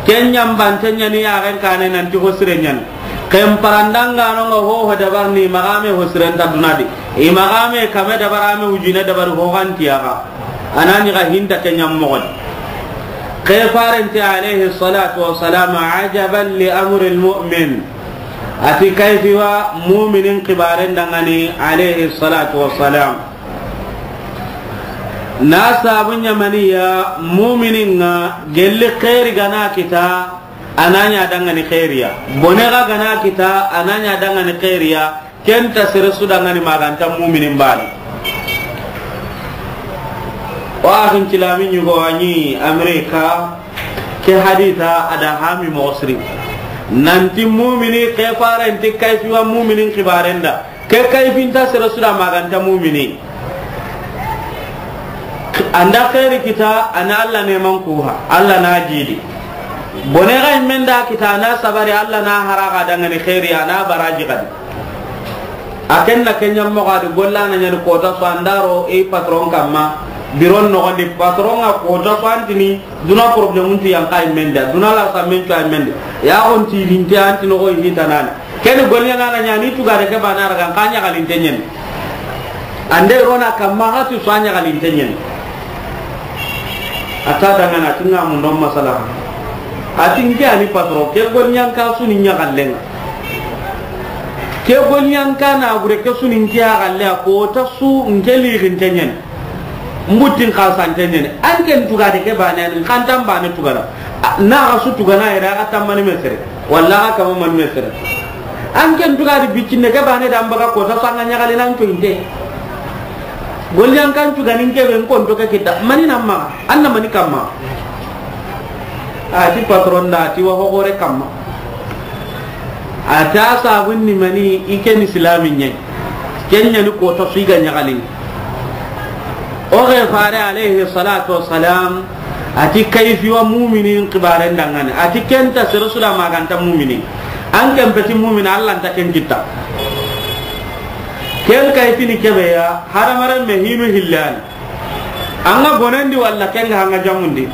Ken yambante ɲani yaxen kane nanti hosire ɲani. Ken parandanganon ga hoho dabarni maxame hosirenta dunadi. I maxame kame dabarame wujine dabari hoxantiyaxa. Anani ga hinta ke ɲammoxodi. Ke farenti alayhi salatu wasalam ajaban li amri lmumin. Ati kayfiwa muminin kibaren dangani alayhi salatu wasalam. Na sabu ɲamaniya muminin ŋa gelli xeeri gana kita a na ɲa dangani xeeriya. Bone ga gana kita a na ɲa dangani xeeriya. Kenta sere su dangani maganta muminin bani. O axin cilami ɲugo a ɲi Amerika ke hadita a da hami moxo siri. Nanti mumini ke farenti kayfiwa muminin kibarenda. Ke kayfinta sere su da maganta mumini. Anda xeeri kita a na Allah neman kuha Allah na jidi. Bone ga immenda kita a na sabari Allah na haraga dangani xeeri a na baraji gadi. A ken na ke ɲammoxo a di golla na ɲani kota so andaro i patron kamma. Biron noxondi patron ga kota so antini. Duna problème nti yanka immenda duna la samen to immenda. Ya on ti linte anti no go hita nana. Ken golli ɲana ɲani tugare ke bana raga ka ɲagalinte ɲen. Ande rona kamma hatu so a ɲagalinte ɲen. A ta dangana tinga mun don masala. A tinke ani patron ke golli ɲanka suni ɲagallenga. Ke golli ɲanka na gure ke suni nke a galle a kota su nke lirinte ɲen. Mbuttin xasante ɲene an ken tugade ke bane an kantan bane tugana. Na ga su tugana ira ga tammani mesere walla ga kama man mesere. An ken tugade biccinde ke bane da mbaga kota sanga ɲagali nan to inte. Golli an kan tugani nke be kon to ke kita mani namma an na mani kamma. A ti patron da ti wa hogore kamma. A ta sabun ni mani i ken islamin ɲai. Ken ɲani kota su i ga ɲagalini. O xe fare alayhi salatu wasalam a ti kayfiwa muminin kibaren dangani a ti kenta sere su da maganta mumini. An ken peti mumini Allah nta ken kitta. Ken kayfini kebeya hadamaren me hinu hillani. An ga bonendi walla ken ga hanga jamundi.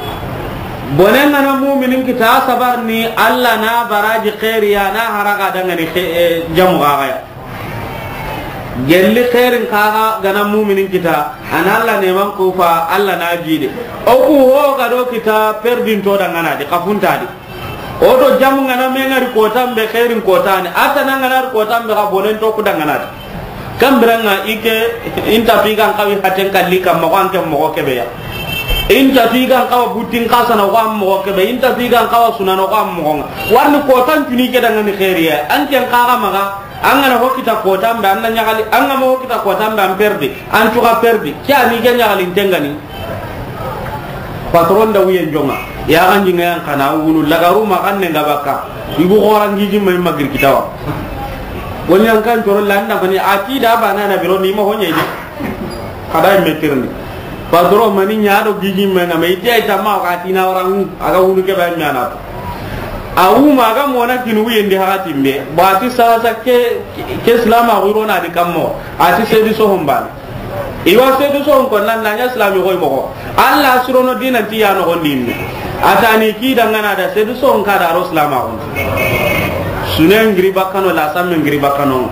Bonen ga na muminin kita sabarni Allah na baraji xeeriya na haraga dangani xe-, e, jamu gagaya. Gelli xeerin kaga gana muminin kita an Allah neman kufa Allah na jide. O ku ho ga do kita perdinto dangana di kafuntadi. O do jamu ngana me ngari kotan be xeerin kotani a tana ngana kotan be ga bonen to ku dangana di. Kambiranga ike inta tu igan kawi haten kalli kamma ko anke mogo kebeya. Inta tu igan kawa buttin kasana ko am mogo kebe inta tu igan kawa sunano ko am mogo nga. Warni kotan tuni ke dangani xeeriya anke kaga maga. An gana ho kita kotan be an na ɲagali an ga ma ho kita kotan be an perdi an cuga perdi ke ani ke ɲagalinte ngani. Patron da wuyen jonga ya ganji ngayan kana wunu lagaru ma kan ne ngabaka. Ibu xorangi jimma imma gir kitawa. Woni an kan toro landa mani ati da bana na biro ni ma ho ɲeji. Kada imme tirni. Patron mani ɲa do gigi menga me ite ay tamma ka tina warangu aga wulu ke ba ɲana to. Awu ma ga mona kinu yendi hakatin be. Ba ti sasa ke, ke silama huro na di kammo. Ati sedi so hombana. Iwa sedu so ko nan na ɲa silami koy mogo. Allah surono dinan ti ya no gondi me. Atani ki dangana da sedu so ka da ro silama ko. Sunen giri bakkano la samme giri bakkano.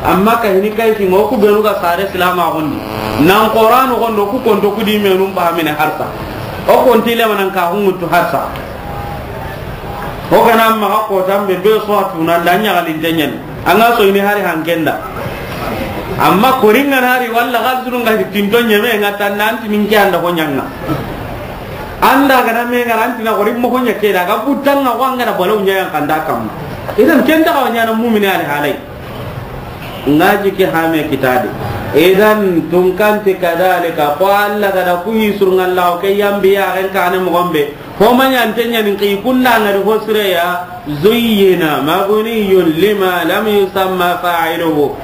Amma ka hini kay ti mo ku benu ga sare silama ko. Nan Qur'an ko ndo ku konto ku di menum ba mine harsa. O konti le manan ka hungutu harsa. O kana maxa kotan be be so a tuna nda ɲaxalinte ɲen. An ga so ini hari hankenda. Amma koringa nari walla xal sunu nga tinto ɲeme nga tan nan tinin ke anda ko ɲanga. Anda gana me nga ran tina korin mo ko ɲa ke da ga butanga ko anga da balaw ɲa yan kanda kam. Idan ken ta ka ɲana mu'mini ali halai. Ngaji ke hame kitade. Idan tunkanti kadalika ko Allah ga da ku hisur ngalla ke yambi ya ren kane mo gombe. Ho maɲante ɲani ki kunda ngari ho sireya, zuyyina mabniyun lima lam yusamma fa'iluhu.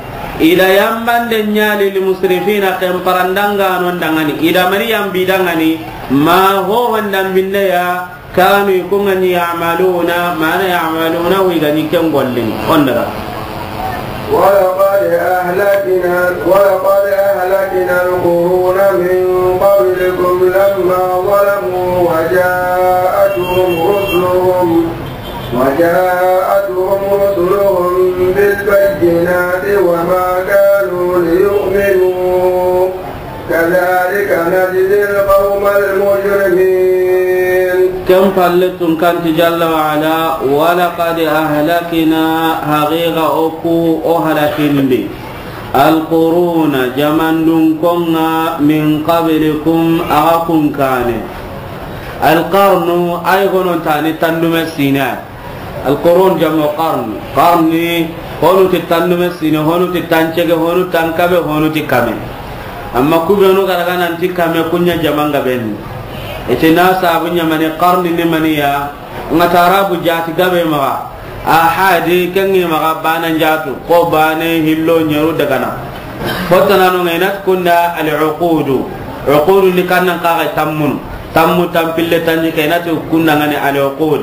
Ida yambande ɲali li musrifina ken parandanga non dangani. Ida mari yambi dangani ma ho honda minne ya kanu i kungani ya'maluna mana ya'maluna wi gani ken gollin. Ondaga. ولقد أهلكنا، ولقد أهلكنا القرون من قبلكم لما ظلموا وجاءتهم رسلهم، وجاءتهم رسلهم بالبينات وما كانوا ليؤمنوا، كذلك نجزي القوم المجرمين. Ken palle tunkanti jalla wa ala, ولقد أهلكنا, haqiqa o ku o halakindi. القرون, jamandun konga, من قبلكم, axa kun kane. القرن, ay gonon tani tandume sine. القرون جمع قرن. Qarni, honu ti tandume sine, honu ti tancege, honu tankabe, honu ti kame. Amma kubenu garaga nanti kame kunya jamanga ben. Ite na sabu ɲamane qarni ni maniya, nga tarabu jati gabe maga. Ahadi kengi maga bana njatu, ko bane hillo nyeru dagana. Fotana no ngainat kunda al-uqudu. Uqudu ni kannan kaga tammun. Tammu tampille tanji kainat kunda ngani al-uqud.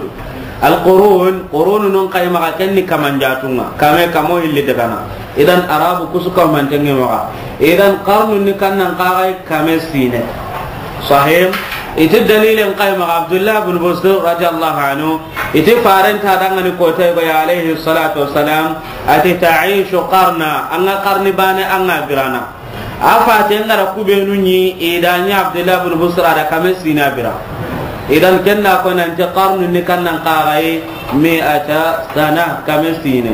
Al-qurun, qurun non kay maga kenni kamanjatunga. Kame kamo hilli dagana. Idan arabu kusu kamantengi maga. Idan qarnu ni kannan kaga kame sine. Sahih. Iti dalilen kay maga Abdullah bin Busr radiyallahu anhu. Iti farenta dangani kotay go ya alayhi salatu wassalam. Ati ta'ishu qarna. Anga qarni bane anga birana. A fate ngara kubenu ɲi idanya Abdullah bin Busr da kame sina bira. Idan kenna ko nanti qarnu ni kannan kagai mi'ata sana kame sine.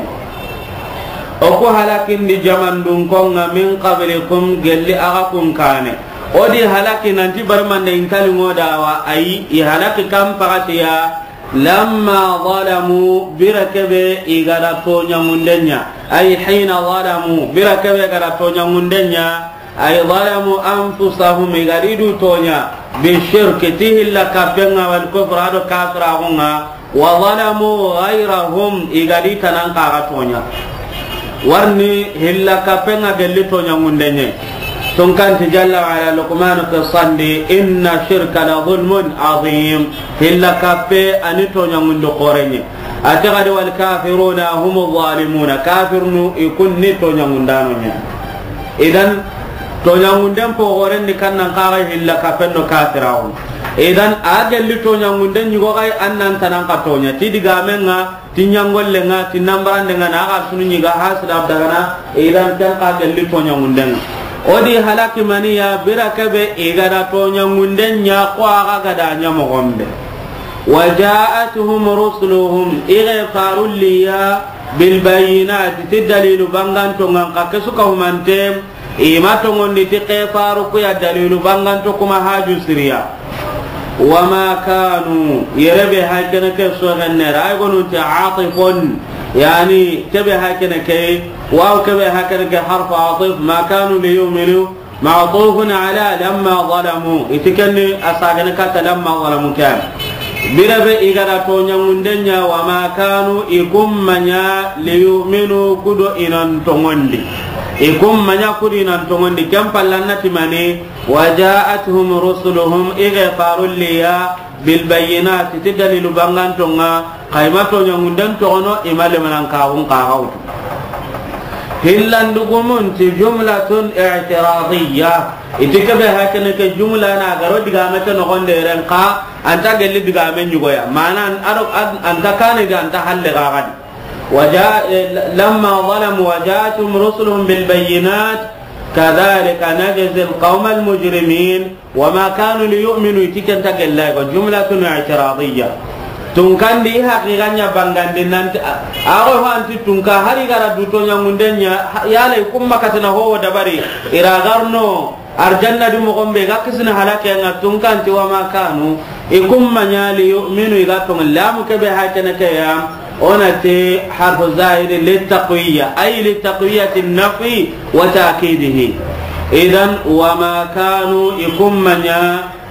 O ku halakindi jamandun konga من قبلكم gelli axa kun kane. O di halaki nanti barmande intali ngodawa ayi i halaki kan pagatiya. لما ظلموا, bira kebe i ga da toɲangunden ɲa. أي حين ظلموا, bira kebe ga da toɲangunden ɲa. أي ظلموا أنفسهم, i ga di du toɲa. بالشرك, ti hilla kappenga, والكفر, ado kafiraxunga. وظلموا غيرهم, i ga di tanan kaga toɲa. Warni hilla kappenga gelli toɲangundenye. Tunkanti jalla wa ala Luqman qissandi, إن الشرك لظلم عظيم. Hilla kappe ani toɲangundu xorenye. Ati gadi والكافرون هم الظالمون. Kafirnu i kunni toɲangundano ɲa. Idan toɲangunden pogoren ni kannan kaga hilla kappen do kafiraxu. Idan a gelli toɲangunden ɲigo gay annan tanan ka toɲa. Ti digamenga Ti ɲangollenga, ti nambarandenga, na axa sunu ɲiga hasida dagana, idan ken xa gelli toɲangundenga. O di halaki maniya, bira kebe i ga da toɲangunden ɲa, ko axa ga da ɲa moxonbe. وجاءتهم رسلهم, i ge farulliya, بالبينات, ti dalilu bangantongan, xa kesu ka humante, I ma tongondi ti ke faru ku ya dalilu banganto kuma haju siriya. وما كانوا, yere be hay kene ke so ganne ra, ay gonu ti atifun, yani ke be hay kene ke, waw ke be hay kene ke harfu atif, ما كانوا ليؤمنوا, معطوف على لما ظلموا, itikenni asagene kata لما ظلموا kan. Bire be i ga da toɲangunden ɲa, وما كانوا, i kummanya, ليؤمنوا, kudo i nan tongondi. I kun ma ɲa ku di nan tonŋundi, ken palle a na ti mani, wa ja'athum rusuluhum, i ga farulliya, bil bayyinati, ti dalilu bangantonŋa, xa i ma toɲaŋunden toxono, i ma lemanankaxun xaxa wutu. Hillandugumun ti jumlatun i'tiradiyya. I ti kebe hakene ke jumla na garo digame ke noxonde ren xa, a nta gelli digame ɲugoya. Mana an-, ado an-, a nta kane di, a nta halle xaxa di. Wa ja-, eh, lamma zalamu wa ja'athum rusuluhum bil bayyinat, kadhalika najzi al qawma al mujrimin, wa ma kanu li yu'minu, i ti ken nta gella ko jumlatun i'tiradiyya. Tunkandi haqiqa ɲa bangandi nanti, a, a go ho anti tunka hari gara du toɲaŋunden ɲa, ha, yala i kun ma katana ho dabari, i ra garno, Arjanna di moxon be ga kisini halake ŋa, tunkanti wa ma kanu, i kun ma ɲa li yu'minu, i ga tonŋa lamu kebe hakene ke ya, o na ti harfu zahiri li taqwiya, ay li taqwiyati nafi wa ta'kidihi. Idan, wa ma kanu, i kun ma ɲa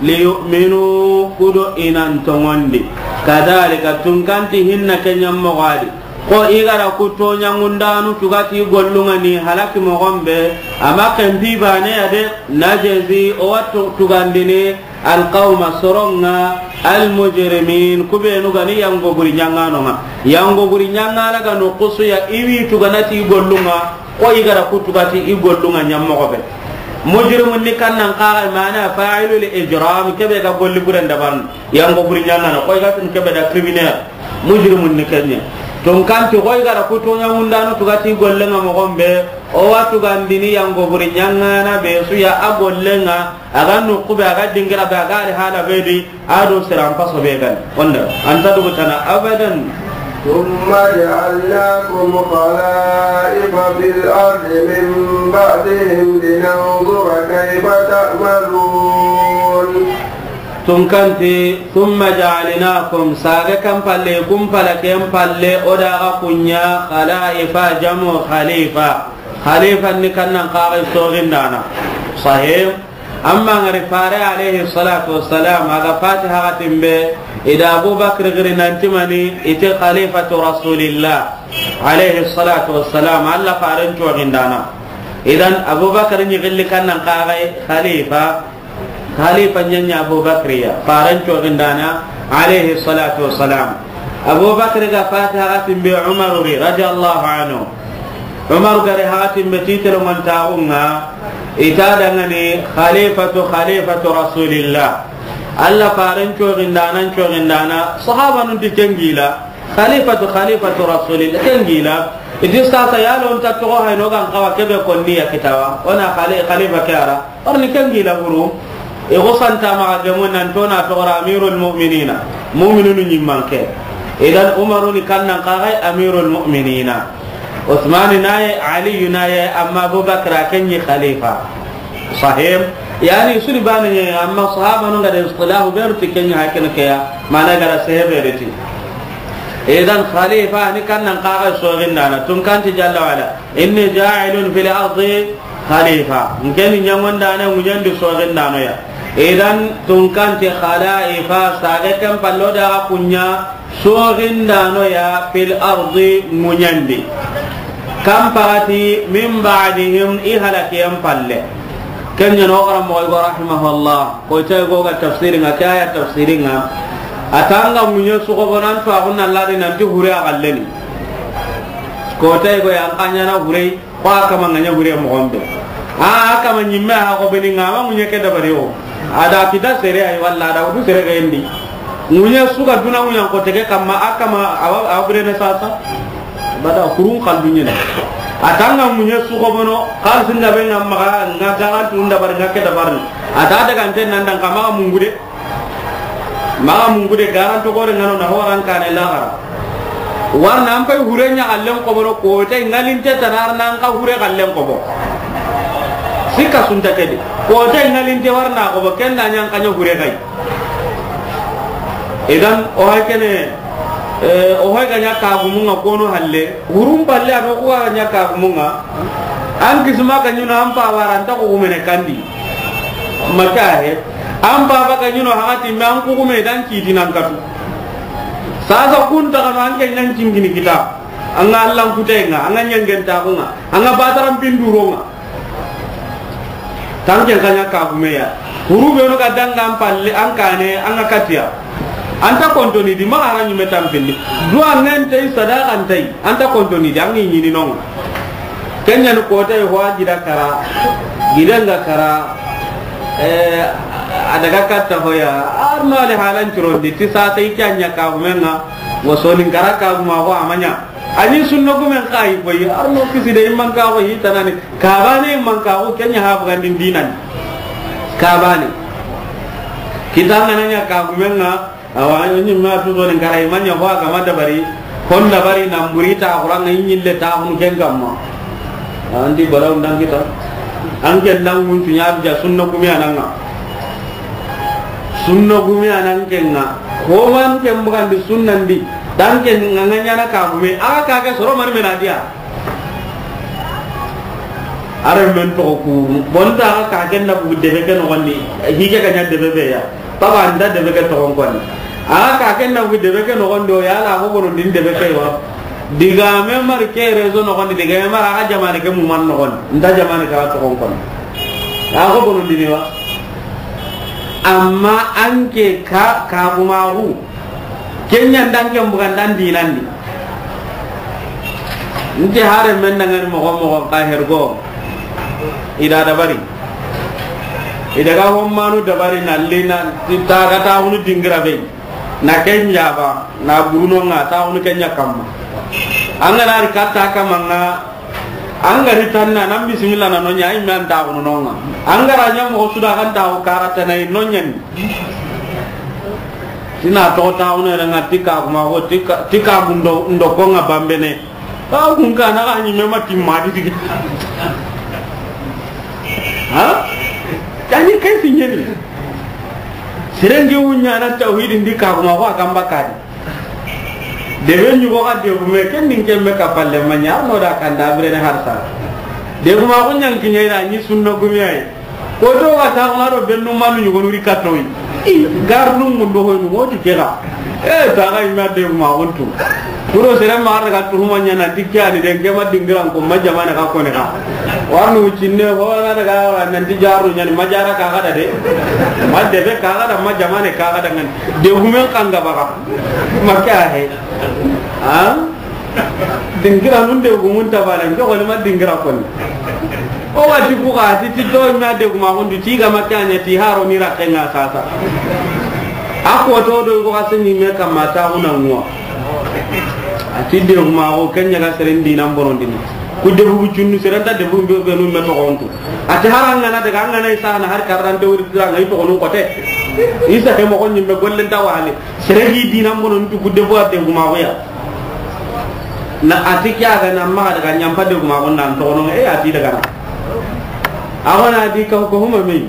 li yu'minu, ku do i nan tonŋundi. Kadhalika, tunkanti hinna ke ɲa moxo a di. Ko i gara ku toɲaŋundanu tugati gollunŋa ni halaki moxon be, a ma ken pi bane ya de, najzi, o wa tu-, tugandini, al qawma, soronŋa, al mujrimin, ku benu ga ni yango buri ɲaŋanonŋa. Yango buri ɲaŋana ga no kusuya i wi tuganati gollunŋa, ko i gara ku tugati i gollunŋa ɲa moxo be. Mujrimun ni kannan xaxa mana fa'ilul ijram, kebe ga golli buren dabarni. Yango buri ɲaŋana, ko i ga tun kebe da criminel, mujrimun ni ken ɲa. Tunkanti ko i gara ku toɲaŋundanu tugati gollenŋa moxon be, o wa tugandini yango buri ɲaŋana be su ya a gollenŋa, a ga nuxu be, a ga dingira be, a ga ri hala be di, a do siran paso be gani. Wanda, a nta dugu tana abadan. ثم جعلناكم خلائف في الأرض من بعدهم لننظر كيف تعملون. Tunkanti, thumma ja'alnakum, saga kan palle, kun pala ken palle, o da ga ku ɲa, khalaifa, jamu khalifa. Khalifa ni kannan xaxa sogindana. Sahih. Amma ngari fare alayhi salatu wassalam, a ga Fatiha ga timbe, i da Abu Bakr giri nanti mani, i ti khalifatu Rasulillah, alayhi salatu wassalam, Alla faren sogindana. Idan, Abu Bakr ni gilli kannan xaxa khalifa, Khalifa ɲa ɲa Abu Bakri ya, faran cogindana, alayhi salatu wassalam. Abu Bakri ga fati haxatin be Umaru ri, radiyallahu anhu. Umaru ga ri haxatin be, titre mantaxunŋa, i ta dangani khalifatu, khalifatu Rasulillah. Alla faran cogindana, cogindana, sahabanun ti ken gila. Khalifatu, khalifatu Rasulillah, ken gila. I ti sasa yalo nta toxo hayno gan xawa kebe konni ya kitawa. O na khali-, khalifa ke a ra. Warni ken gila buru. I xo santa maxa gemu nan to na toxora Amirul Mu'minina. Mu'minunu ɲimmanke. Idan Umaru ni kannan xaxay Amirul Mu'minina. Usmani naye, Aliyu naye, amma Abu Bakra ken ɲi khalifa. Sahih. Yani, suni bane ɲa, amma sahabanun ga da istilahu beru ti ken ɲa, haken ke ya, mana ga da sehebe riti. Idan khalifa ni kannan xaxa sogindana, tunkanti jalla wala, inni ja'ilun fil ardi khalifa. Nkeni ɲangondana ŋuɲandi sogindano ya. Idan tunkanti khalaifa, sage ken pallo da kunya, sogindano ya fil ardi ŋuɲandi. Kam pagati min ba'dihim, i halakiyen palle. Ken ɲa no xaranmoxo go rahimahullah, ko tay go ga tafsirinŋa, ke aya tafsirinŋa. A tanga ŋuɲe suxo bonan to axun na ladi nanti hure a galleni. Ko tay go yan kanyana hure. Ko a kama ŋa ɲa hure moxon be. A, a kama ɲimme a xo beni ŋa ma ŋuɲe ke dabari o. A da kita sere ay walla a da wudu sere ga yendi. Ŋuɲe su ga duna ŋuɲan ko tege kamma a kama awa, awa bire ne sasa. Bada kurun kaldu ɲene. A tanga ŋuɲe su xo bono, xal singa be ŋa maxa, ŋa daga tun dabari, ŋa ke dabari. A ta daga nten nan dan kama mungude. Maxa mungude garanto gore ŋa no na horan kane laxara. Warna an pay hure ɲa xallen xobono, kote ŋalinte tanarna an xa hure xallen xobo. Sikka sunta kedi. Kote ŋalinte warna xobo, ken da ɲa an xa ɲa hure xay. Idan, o hay kene, eh, o hay ga ɲa kagumunŋa kono halle. Hurum palle a no kuwa ɲa kagumunŋa. An kisma ka ɲuna an pa waranta ko gumene kandi. Maka he. An baba ga ɲino haxati me an kugume dan kiti nan katu. Sasa kun ta kanu an ke ɲan cingini kita. An ga Allan kutayen ŋa, an ga ɲangen taxun ŋa, an ga bataran pinduron ŋa. Tanken xa ɲa kagume ya. Huru benu ga danga an palle, an kane, an ga katiya. An ta kontoni di, maxa hara ɲume tampindi. Duwa ŋen tay, sadaxan tay, an ta kontoni di, an ŋi ɲini non ŋa. Ken ɲa ni kota yi, ho a gida kara, giden ga kara, eh, a daga katta hoya, arno ali halan curondi, ti sa tay ke a ɲa kagumen ŋa, wo sonin kara kaguma ho a ma ɲa. A ni sunna gumen xa yi koyi, arno kisi de imman ka ko yi tanani. Kabane imman ka ko ken ɲa ha bugandin dinani. Kabane. Kita ngana ɲa kagumen ŋa, awa, ni ma tu do ni kara imman ɲa ho a ga ma dabari. Hon dabari na mburi ta Qur'an ŋa ɲille ta hunu ken kamma. Andi balaw ndan kita. An ken nan mun tunya ja sunna gume anan ŋa. Sunna gume anan ken ŋa. Ko man ken bugandi sunnan di. Dan ken ŋa ɲa na kagume. A ka ke soro man mena diya. Are men to ku. Bonta ka ken na bu debe ke no gondi. Hige ka ɲa debe be ya. Baba anda debe ke to kon kon. A ka ken na bu debe ke no gondi o ya la ko bono din debe ke wa. Diga me mar ke rezo no gondi, diga me mar a jamane ke mu man no gondi. Nda jamane ka to kon kon. A ko bono din wa. Amma an ke ka, kagumaxu. Ken ɲa ndan ken bugandan dinandi. Nti hare men dangani moxo moxo ka hergo. I da dabari. I daga hommanu dabari na lina ti taga taxunu dingira be. Na ken jaba, na buruno ŋa taxunu ken ɲa kamma. An ga na ri katta kamma ŋa. An ga ri tanna, nan bisimilla na no ɲa, i me an taxunu no ŋa. An ga ra ɲa moxo su da kan taxu karata na i no ɲa ni. Tina to taxunu yere ŋa ti kagumaxu, ti ka, ti kagu ndo, ndo ko ŋa bambene. Ka kun ka na ka ɲi me ma timma di dige. Ha? Tani kai fi ɲeni. Seren ge wunya na tawhidin di kagumaxu a kan bakari. Debe ɲugo ga degume, ken din ken me ka palle ma ɲa, no da kanda birene harsa. Degumaxu ɲan kiɲe na ɲi sunna gume ay. Ko do ga ta ko do bennu manu ɲugo nuri katoyi. I garnu mun do hoynu moti kega. E ta ga ima degumaxun tu. Kuro sere ma daga tuhuma ɲa na dikya ni den ke ma dingiran ko ma jamane ka ko ne ka. Warnu cinne ho na daga nan di jaru ɲa ni ma jara ka ga da de. Ma debe ka ga da ma jamane ka ga da ŋa ni. Degumen kanga baga. Ma ke a he. Ha? Dingira nun de gumun tabana, njo ko ma dingira kon. O wati ku ga ti, ti to ma degumaxun di ti ga ma kanya ti haro ni ra kenga sasa. A ko to do ko ga seni me kamma ta una ngwa. A ti degumaxu ken ɲa ga seren dinan bonon dini. Ku debu junnu seren ta debu be, be nun me to gontu. A ti haranga na daga ngana isa na har karante wuri tiranga i to gonu kote. Isa ke mo gonyi me gollen ta wale. Sere gi dinan bono ntu ku debu a degumaxu ya. Na a ti ke a ga na maxa daga ɲampa degumaxu nan toxono, e a ti daga na. A xo na di ka ko huma me.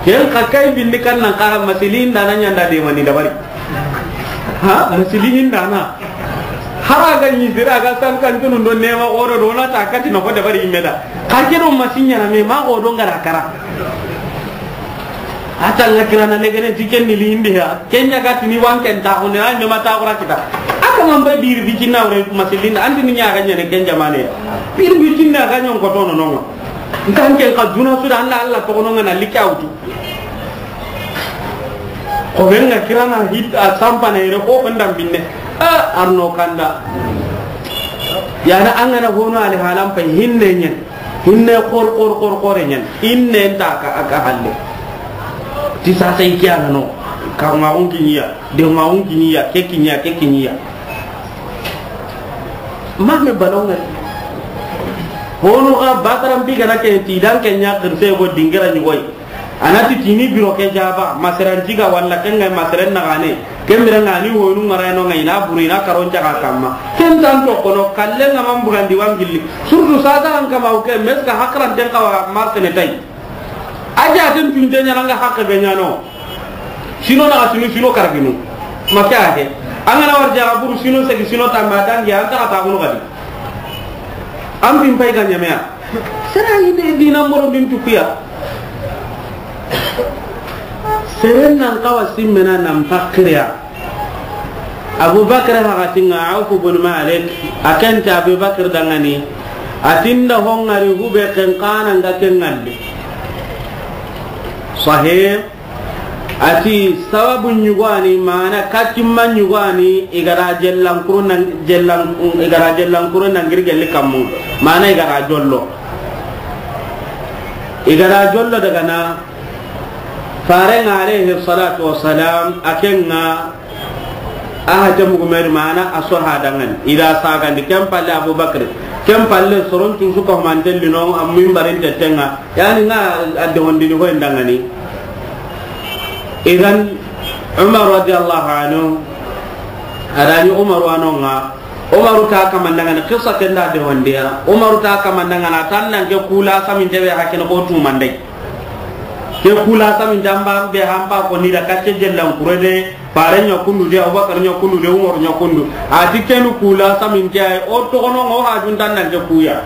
Ken xa kay bindi kan nan xara masilihin da na ɲanda de mani dabari. Ha, masilihin da na. Hara ga ɲi sira ga san kan tunu do nema xoro do na ta kati na ko dabari me da. Ka ke do masinya na me ma xo do ngara kara. A ta ŋa kirana legene ti ken ni lindi ya. Ken ɲa ga ti ni wan ken ta xune, a ɲa ma ta xura kita. A ka man bay biri bi cinna wure masilinda, an ti ni ɲa ga ɲene ken jamane ya. Biri bi cinna ga ɲon ko tono nonga. Ntan ken ka duna su da, an da Alla toxo nonga na liki a wutu. Ko ben ŋa kirana hit a sampana yere ko ko ndam binne. A arno kanda. Yana an ga na hono ali halan pay hinne ɲen. Hinne xor, xor, xor, xore ɲan. Inne nta ka, a ka halle. Ti sasa i kiya no. Ka ma un kiniya, de ma un kiniya, ke kiniya, ke kiniya. Ma me balonga. Hono ga bataram bi gana ke ti dan ke ɲa kirse go dingira ni goy. Anati tini biro ke jaba, masaran jiga walla ken ga masaren na gane. Ken bira ngani wonu ngara no ngai na buri na karon jaga kamma. Ken tan to kono kalle nga man bugandi wangilli. Surtout sasa an kama uke meska hakran den kawa martene tay. Aja ten tunte ɲana nga hakke be ɲano. Sino na sino sino karaginu. Makya ke. Angana war jaga buru sino segi sino tamba dangi anta kata kuno kadi. An bin pay ga ɲameya. Sera ide dina moro din tukuya. Seren nan kawa simmena nan pakriya. Abubakar haxatinŋa Awfu bun Malik, a ken ti Abubakar danŋani, a ti n da ho ŋari hube ken xa na ŋa ken ŋalli. Sahih. A ti sababu ɲugani, mana katimma ɲugani, i ga da jellankuru nan, jellan-, i ga da jellankuru nan giri gelli kammu, mana i ga da jollo. I ga da jollo daga na, Farenŋa alayhi salatu wassalam, a ken ŋa, a hate mugu meri mana a so ha danŋani. I da sagandi, ken palle Abubakar, ken palle soron tusu ko manten lino, a minbarin tettenŋa, yani ŋa a de hondini ho en danŋani. Idan, Umar radiyallahu anhu, a da ɲi Umar wa no ŋa, Umaru ta kamandaŋani, qissa ken da de hondiya, Umaru ta kamandaŋani, a tan nan ke kula samin tebe hakene ko tumandai. Ke kula samin tamba be hampa ko ni da kacce jellan kurede, Fare ɲa kundu de, Abubakar ɲa kundu de, Umar ɲa kundu. A ti kenu kula samin ke ay, o toxono ŋo hajun tan nan ke kuya.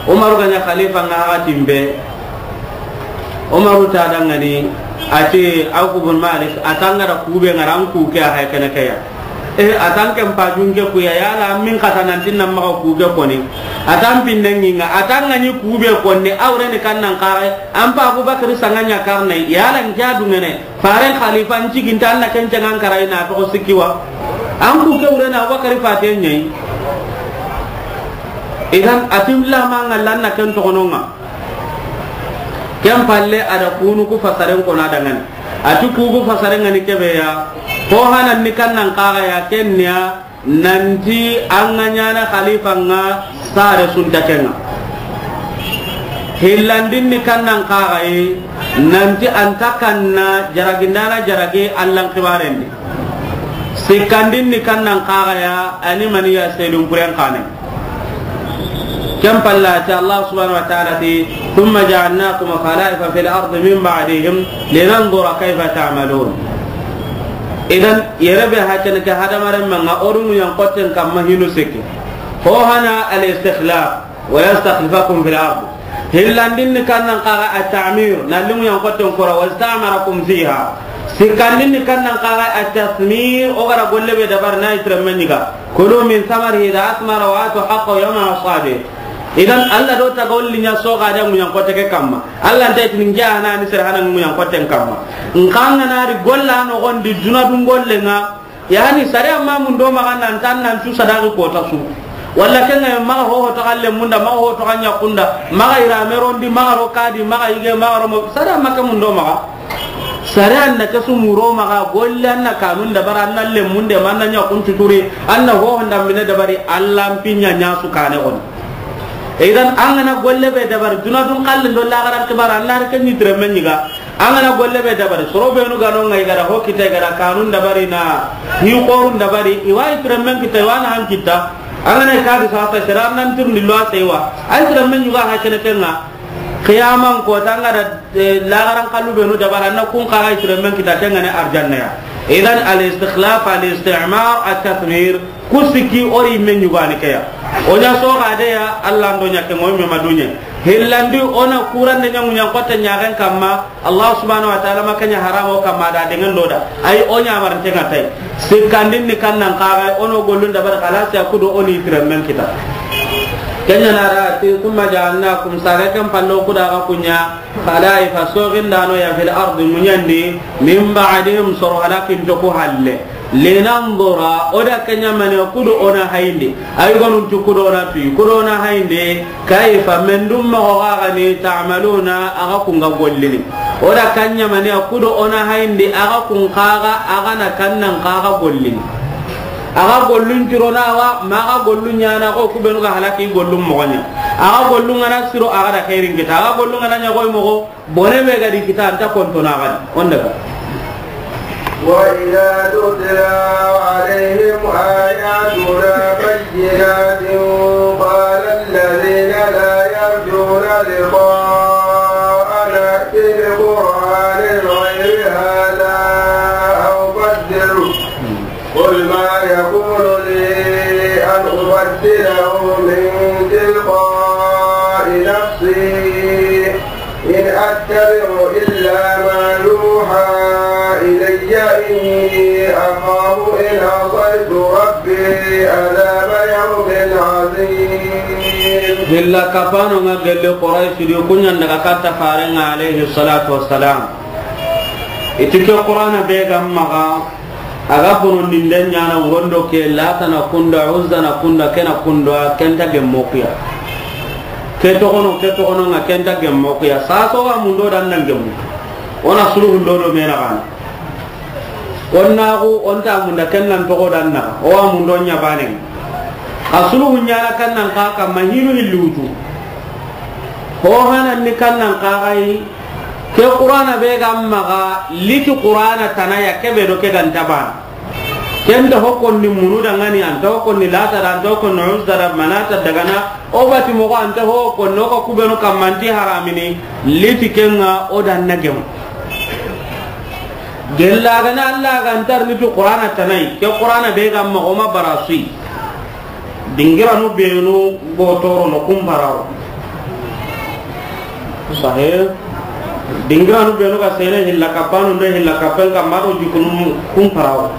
Umaru ga ɲa khalifa ŋa haxatin be. Umaru ta danŋani, a ti Awfu bun Malik, a tan ŋa da kube ŋa ran ku ke a hay kene ke ya. E, a tan ken pajun ke kuya, yala min kata nan tin nan maxa ku ke koni. A tan pinnen ŋi ŋa, a tan ŋa ɲi kube konni, awre ni kan nan kare, an pa Abubakar sanga ɲa karne, yala n ke a dungene. Faren khalifa n ciginta an na ken cangan karai na toxo sikki wa. An ku ke wure na Abubakar fate ɲayi. Idan a ti lama ŋa lan na ken toxono ŋa. Ken palle a da kunu ku fasaren ko na danŋani. A ti ku ku fasaren ŋa ni kebe ya. Ko hanan ni kan nan kaga ya ken niya. Nanti an ga ɲana khalifa ŋa sare sunta ke ŋa. Hillandin ni kan nan kaga yi, nanti an ta kanna jaragindana jaragi Allan xibarendi. Sikkandin ni kan nan kaga ya, a ni mani ya sedun puren kane. Ken palla ti Allah subhanahu wa ta'ala ti, ثم جعلناكم خلائف في الأرض من بعدهم لننظر كيف تعملون. Idan, yere be hakene ke hadamaren manga, o du ɲankotten kamma hinu sikki. Ho hana al-istikhlaf, wa yastakhlifakum fil ard. Hillandin ni kan nan kaga at-ta'mir, na limu ɲankotten kora, wasta'marakum fiha. Sikkandin ni kan nan kaga at-tathmir, o gara golle be dabar na itremme ɲiga. Kulu min thamarihi idha athmara wa atu haqqahu yawma hasadihi. Idan, Allah do taga olli ɲa soga da ɲankotte ke kamma. Allah nta itini n ke hana ni sere hana ɲankotten kamma. N kanga na ri golla no gondi duna dun golle ŋa. Yani sare amma mun do maga nan tan nan cu sadaqi kota su. Walla ken ŋa maga ho ho to galle munda, maga ho to ganya kunda, maga irame rondi, maga ro kadi, maga ige, maga ro mo, sare amma ke mun do maga. Sare an na ke su muro maga, golle an na kanun dabara, an na lemunde, man na ɲa kun tuturi, an na ho honda mine dabari, Allah n pinya ɲa su kane on. Idan an ga na golle be dabari, duna dun kallen do lagaran kibara, an na ke ni tremme ɲiga. An ga na golle be dabari, soro be nu ga no ŋa i gara ho kita, i gara kanun dabari na hi qorun dabari, i wa itremmen kita, i wa na han kita. An ga na kadi sa ta sira nan tirndi lo a sai wa. Ay itremmen ɲuga ha kene ke ŋa. Qiyaman ko ta an ga da, eh, lagaran kallu be nu dabara na kun kaga itremmen kita ke ŋa ne arjanna ya. Idan al-istikhlaf, al-istimar, at-tathmir, ku sikki o ri me ɲugani ke ya. O ɲa soga de ya, Allah ndo ɲa ke moy me maduɲe. Hillandi o na kurande ɲa ɲankotte ɲagen kamma, Allah subhanahu wa ta'ala ma ke ɲa haramo kamma da dengan do da. Ay o ɲa marante ŋa tay. Sikkandin ni kan nan kaga o no gollun dabari khalas ya kudo o ni itremmen kita. Ken ɲa na ra ti, ثم جعلناكم, saga ken pallo kuda ga ku ɲa, خلائف, sogindano ya, في الأرض, ŋuɲandi, من بعدهم, soro halakin to ku halle. لننظر, o da ke ɲa mane kudo o na hayindi. Ay gonun tu kudo o na tu, kudo o na hayindi. كيف, mendum moxo ga ga ni, تعملون, a ga kun ga gollini. O da ke ɲa mane kudo o na hayindi, a ga kun kaga, a ga na kan nan kaga gollini. A ga gollun curo na wa, ma ga gollun ɲana ko ku be nu ga halaki gollun moxo ɲa. A ga gollun ŋa na siro, a ga da khairin kita. A ga gollun ŋa na ɲa koy moxo, bone be ga di kita, an ta konto na ga di. On daga. وإذا تتلى عليهم آياتنا بينات قال الذين لا يرجون لقاءنا ائت بقرآن غير هذا أو بدله قل ما يكون لي أن أبدله من تلقاء نفسي إن أتبع إلا ما يوحى إلي إني أخاف Hilla kapano nga gelle Quraysh di, ku ɲa n daga katta Faaren ŋa alayhi salatu wassalam. I ti ke Qur'ana be ga maxa, a ga bonondinde ɲaana, wuron do ke Lata na kunda, Uzza na kunda, ke na kunda, ke nta gemmo ku ya. Ke toxono, ke toxono nga ke nta gemmo ku ya. Saso wa mundo dan nan gemmu. O na suluhun do do me na gana. O na xo, o nta munda ken nan toxo dan na. O wa mundo ɲa baane. A suluhun ɲaana kan nan xa kamma hinu hilli wutu. Ho hanan ni kan nan xa ga yi. Ke Qur'ana be ga maxa, liti Qur'ana tana ya, ke be do ke ga nta baana. Ken nta ho konni munu dangani, a nta ho konni Lata da, a nta ho konni Uzza da, Manata dagana, o bati moxo a nta ho konni, o ga ku be no kamma nti haramini, liti ke nga o dan na gemu. Gella gana Allah ga nta ri ni tu Qur'ana tana yi, ke Qur'ana be ga maxa o ma bara su yi. Dingiranu benu go torono kumparawo. Sahe. Dingiranu benu ga sene hilla kapanu nde hilla kapen kamma do jikunu kumparawo.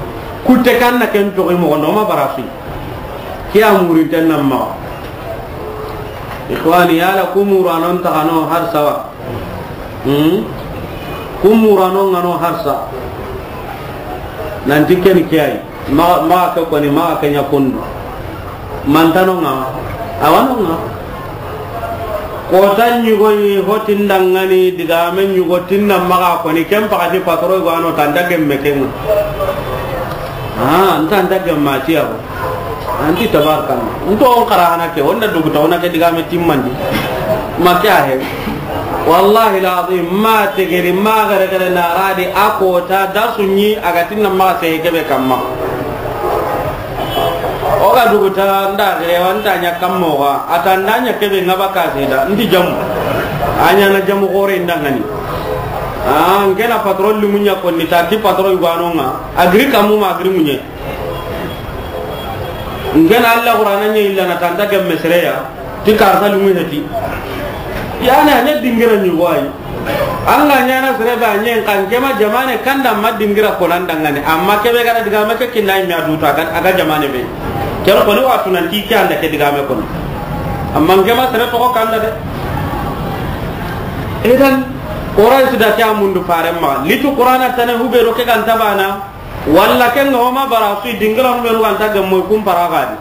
Kutte kan na ken toxi moxo no ma bara su yi. Ke ya murinten nan maxa. Ikhwani, yala ku muranon taxano har sawa. Hmm? Ku murano nga no harsa. Nanti ken ke yi. Maxa, maxa ke koni, maxa ke ɲa kundu. Mantano nga, awano nga. Kota ɲugo yi, ho ti n dangani, digame ɲugo ti n na maxa koni, ken pakati patoro go ano tanta gemme ken nga. Ah, n tanta gemma ti ya. Anti tabarkalla. Nto on xara hana ke, o nda duguta, o na ke digame timmandi. Ma ke a he. Wallahi lazim, ma tegeri, ma gare gare na radi, a kota, da su ɲi, a ga ti n na maxa seye ke be kamma. O ga duguta, nda gere, wa nta ɲa kammo ga, a ta nda ɲa ke be nga ba ka se da, ndi jamu. A ɲa na jamu xore n dangani. Ah, n ke na patron limu ɲa konni, ta ti patron yugo ano nga, a giri kammu ma, a giri muɲe. N ke na Allah Qur'ana ɲa illa na tanta gemme sere ya, ti karta lumu heti. Yani, a ɲa dingira ɲugo yi. An ga ɲaana sere be a ɲen kan ke ma jamane kanda ma dingira ko nan dangane. Amma ke be ga na digame ke kinna yi me a duta kan a ga jamane be. Ke ko ni watu nan ti ke anda ke digame ko. Amma n ke ma sere to ko kanda de. Idan, Quraysh da ke a mundu Faaren ma. Litu Qur'ana tana hube ro ke ga nta baana. Walla ken nga o ma bara su yi, dingiranu benu ga nta gemmo yi, kun para ga di.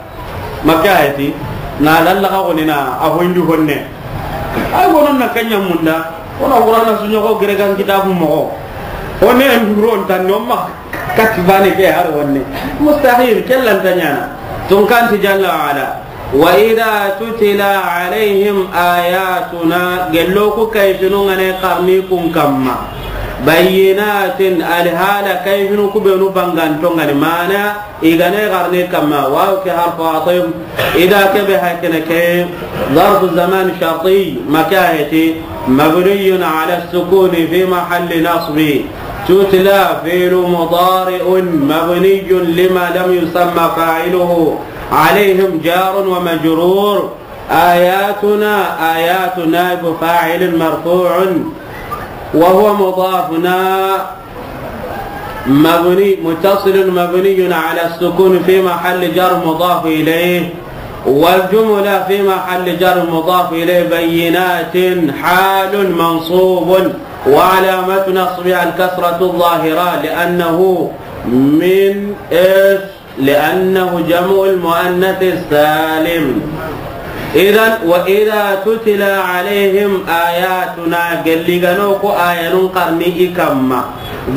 Ma ke a he ti, na lalla xa xoni na a hoyindi honne. Ay, wonon na ken ɲa munda, o na Qur'ana su ɲoxo gere gan kitabu moxo. Honne en duro n tan no ma kati baane ke har honne. Mustahil, ke lan ta ɲaana. Tun kan ti jalla wa ala. وإذا تتلى عليهم آياتنا، gello ku kayfinu nga ne xarni kun kamma. بينات، alhala kayfinu ku benu banganto nga ni, mana i ga ne xarni kamma. Waw ke harfu atf, إذا ke be hakene ke, ظرف زمان شرطي، ma ke a he ti, مبني على السكون في محل نصب. تتلى فعل مضارع مبني لما لم يسمى فاعله. عليهم جار ومجرور. آياتنا، آيات نائب فاعل مرفوع وهو مضافنا مبني، متصل مبني على السكون في محل جر مضاف إليه، والجملة في محل جر مضاف إليه بينات حال منصوب وعلامة نصبه الكسرة الظاهرة لأنه من إيش؟ لأنه جمع المؤنث السالم. إذن، وإذا تتلى عليهم آياتنا، gelli ga no ku ayanun xarni i kamma,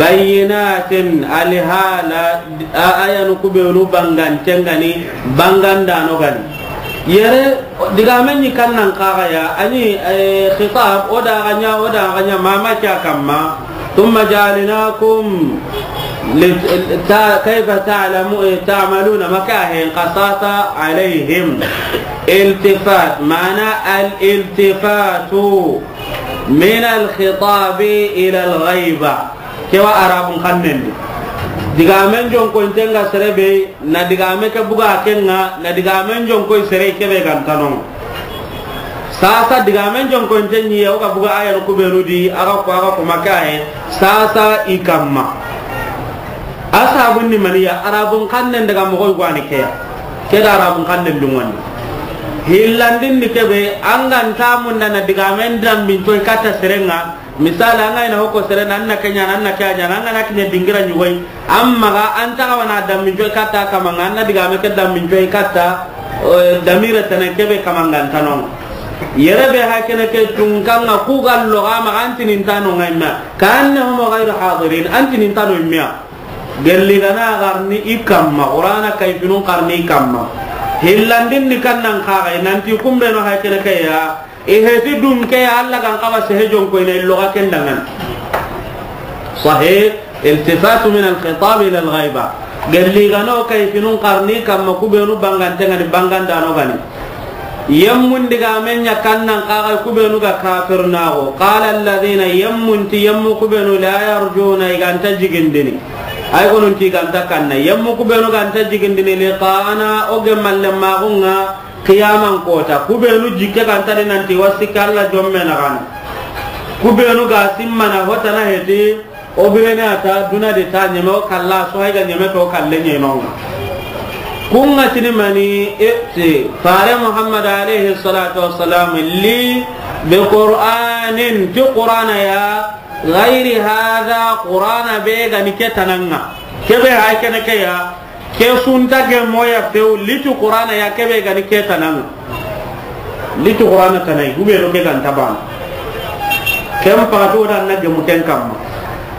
بينات، alhala a-, ayanu ku benu bangante nga ni, bangandano ga ni. Yere, digame ɲi kan nan xa ga ya, a ni, eh, khitab, o da ga ɲa, o da ga ɲa, mama ke a kamma. ثم جعلناكم لت-، تا-، كيف تعلمو-، تعملون، ma ke a he, قصاص عليهم. التفات، معنى الالتفات من الخطاب إلى الغيبة. Ke wa Arabun xannen di. Digamen jonkointen ga sere be, na digame ke buga ken ŋa, na digamen jonkoi sere ke be ga nta no ŋa. Sasa digamen jonkointen ɲi ya, o ga buga ayanu ku benu di, a ga ko, a ga ko ma ke a he, sasa i kamma. A sabun ni mani ya, Arabun xannen daga moxo yogo ni ke ya. Ke da Arabun xannen dunŋa ni. Hillandin ni kebe, an ga nta munda na digamen dambin coy katta serenga. Misali, an ga ina hoko seren, an na kenya, an na kenya, an ga na kinya dingira nyugoi. Amma ga an ta ga wana dambin coy katta kamanga, an na digame ke dambin coy katta, eh, damire tana kebe kamanga tanong. Yere be hakene ke tunkanga ku gallo ga ma antinin tano ngaima. Ka annahum ghayru hadirin, antinin tano immiya. Gelli gana garni i kamma, Qur'ana kayfinun karni i kamma. Hillandin ni kannan kaga, nanti kumbeno hay kene ke ya, i heti dun ke ya, Allah gan kaba sehe jon ko ina illo ga kendangan. Sahih, iltifatu min al-khitab ila al-ghaiba. Gelli gano kayfinun karni kamma, kubenu bangante ngani, bangandano gani. Yemmun digamen ɲa kannan kaga, kubenu ga kafir nago. Qala alladhina, yemmun ti yemmu kubenu la yarjuna, i ganta jigindini. Ay gonun ti ganta kanna. Yemmu kubenu ganta jigindini liqa'ana, o gemalle magunga qiyaman kota. Kubenu jikke ganta di nanti wasi kalla jomme na gana. Kubenu ga simmana hotana heti. O birene a ta duna de ta ɲeme o kalla, so hay ga ɲeme to kalle ɲenonga. Kunga tini mani, e, ti, fare Muhammad alayhi salatu wassalam, li bi Qur'anin, ti Qur'ana ya, ghayri hadha, Qur'ana be gani ke tananga. Kebe hay kene ke ya, Ke sunta gemmo ya few, litu Qur'ana ya kebe gani ke tananga. Litu Qur'ana tanai, hube ro ke ganta bana. Ken pato da na gemu ken kamma.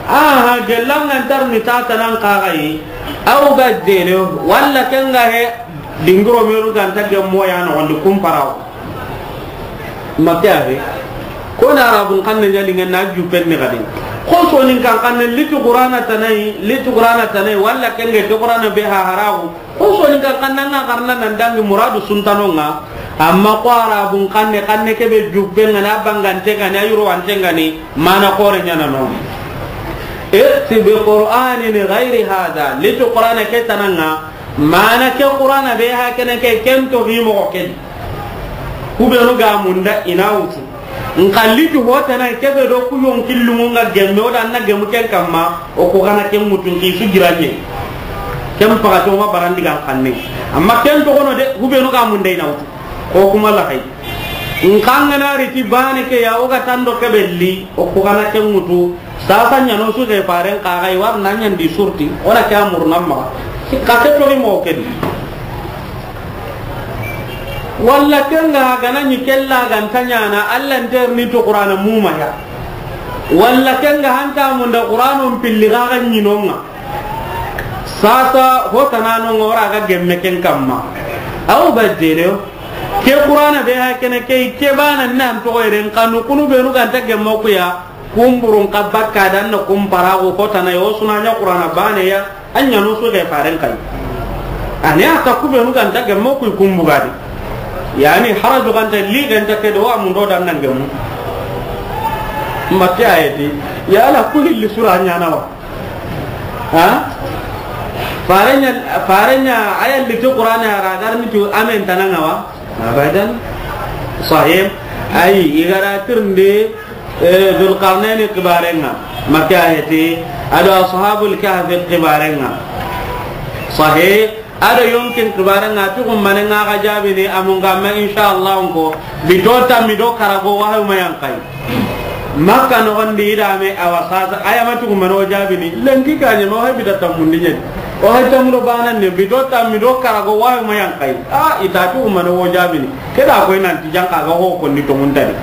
Aha, gelanga ntar ni ta tanan kagai. Au ga dele, walla ken ga he, dingiro meru ganta gemmo ya no wandi kumparawo. Makke axe, ko na Arabun xanne ɲalinge na jupen ni xadi. Xo Soninkan xanne litu Qur'ana tanai, litu Qur'ana tanai, walla kenge ke Qur'ana be ha haraxu. Xo Soninkan xanne nga xarna nan dangi muradu suntanonga. Amma ko Arabun xanne, xanne kebe jupen ngana bangante ngani, ayuro wante ngani, mana xore ɲana no. Iti bi Qur'anin ghayri hadha, litu Qur'ana ke tananga. Mana ke Qur'ana be ha kene ke, ken to hi moxo ken. Kubenu ga munda ina wutu. Nka litu hotana kebe do ku yon killumu nga gemme, o da na gemu ken kamma, o ko gana ken mutu nki su giranye. Ken paga to ma barandi ga xanne. Amma ken to kono de, kubenu ga munda ina wutu. Ko kuma la hay. Nka ngana riti bane ke ya, o ga tando kebe li, o ko gana ken mutu. Sasa ɲano su ke faren kaga i war na ɲandi surti, o na ke amur nan ma. Ka ke tori mo ke di. Walla kenga gana ɲi kella ganta ɲana, Allah nter ni to Qur'ana mumaya. Walla kenga hanta munda Qur'anon pilli gaga ɲinonga. Sasa hotana no ngora ga gemme ken kamma. Aw bajere. Ke Qur'ana be ha kene ke, ke bana nan to eren kanu kunu benu ganta gemmo kuya. Kumburun ka bakka dan na kumpara go kotana yo suna ɲa Qur'ana bane ya, an ɲa no su ke faren kai. Ani aka kubenu ganta gemmo kuy kumbugadi. Yani haraju ganta li ganta ke do amundo dan nan gemmu. Mbatte ayeti. Ya la ku hilli sura ɲana wa. Ha? Farenya, farenya aya litu Qur'ana ya ragar ni tu amen tananga wa. Abadan. Sahih. Ay, igara tirnde, eh, Dhul Qarnayni kibarenga. Makka ayati, ado Ashabul Kahfi kibarenga. Sahih. Ado yonkin kibarenga, tu kumane nga ga jabini, amunga ma insha Allah ko. Bito tammi do karago wahayu mayankai. Makka noxondi i dame awa sasa, aya ma tugu mano jabini, lenki kañe ma o hay bita tammundi ñeni. O hay tammudo banan ne, bito tammi do karago wawi ma yankayi. A, ita tugu mano wo jabini. Keda koy nanti janka ga ho kondi to muntadi.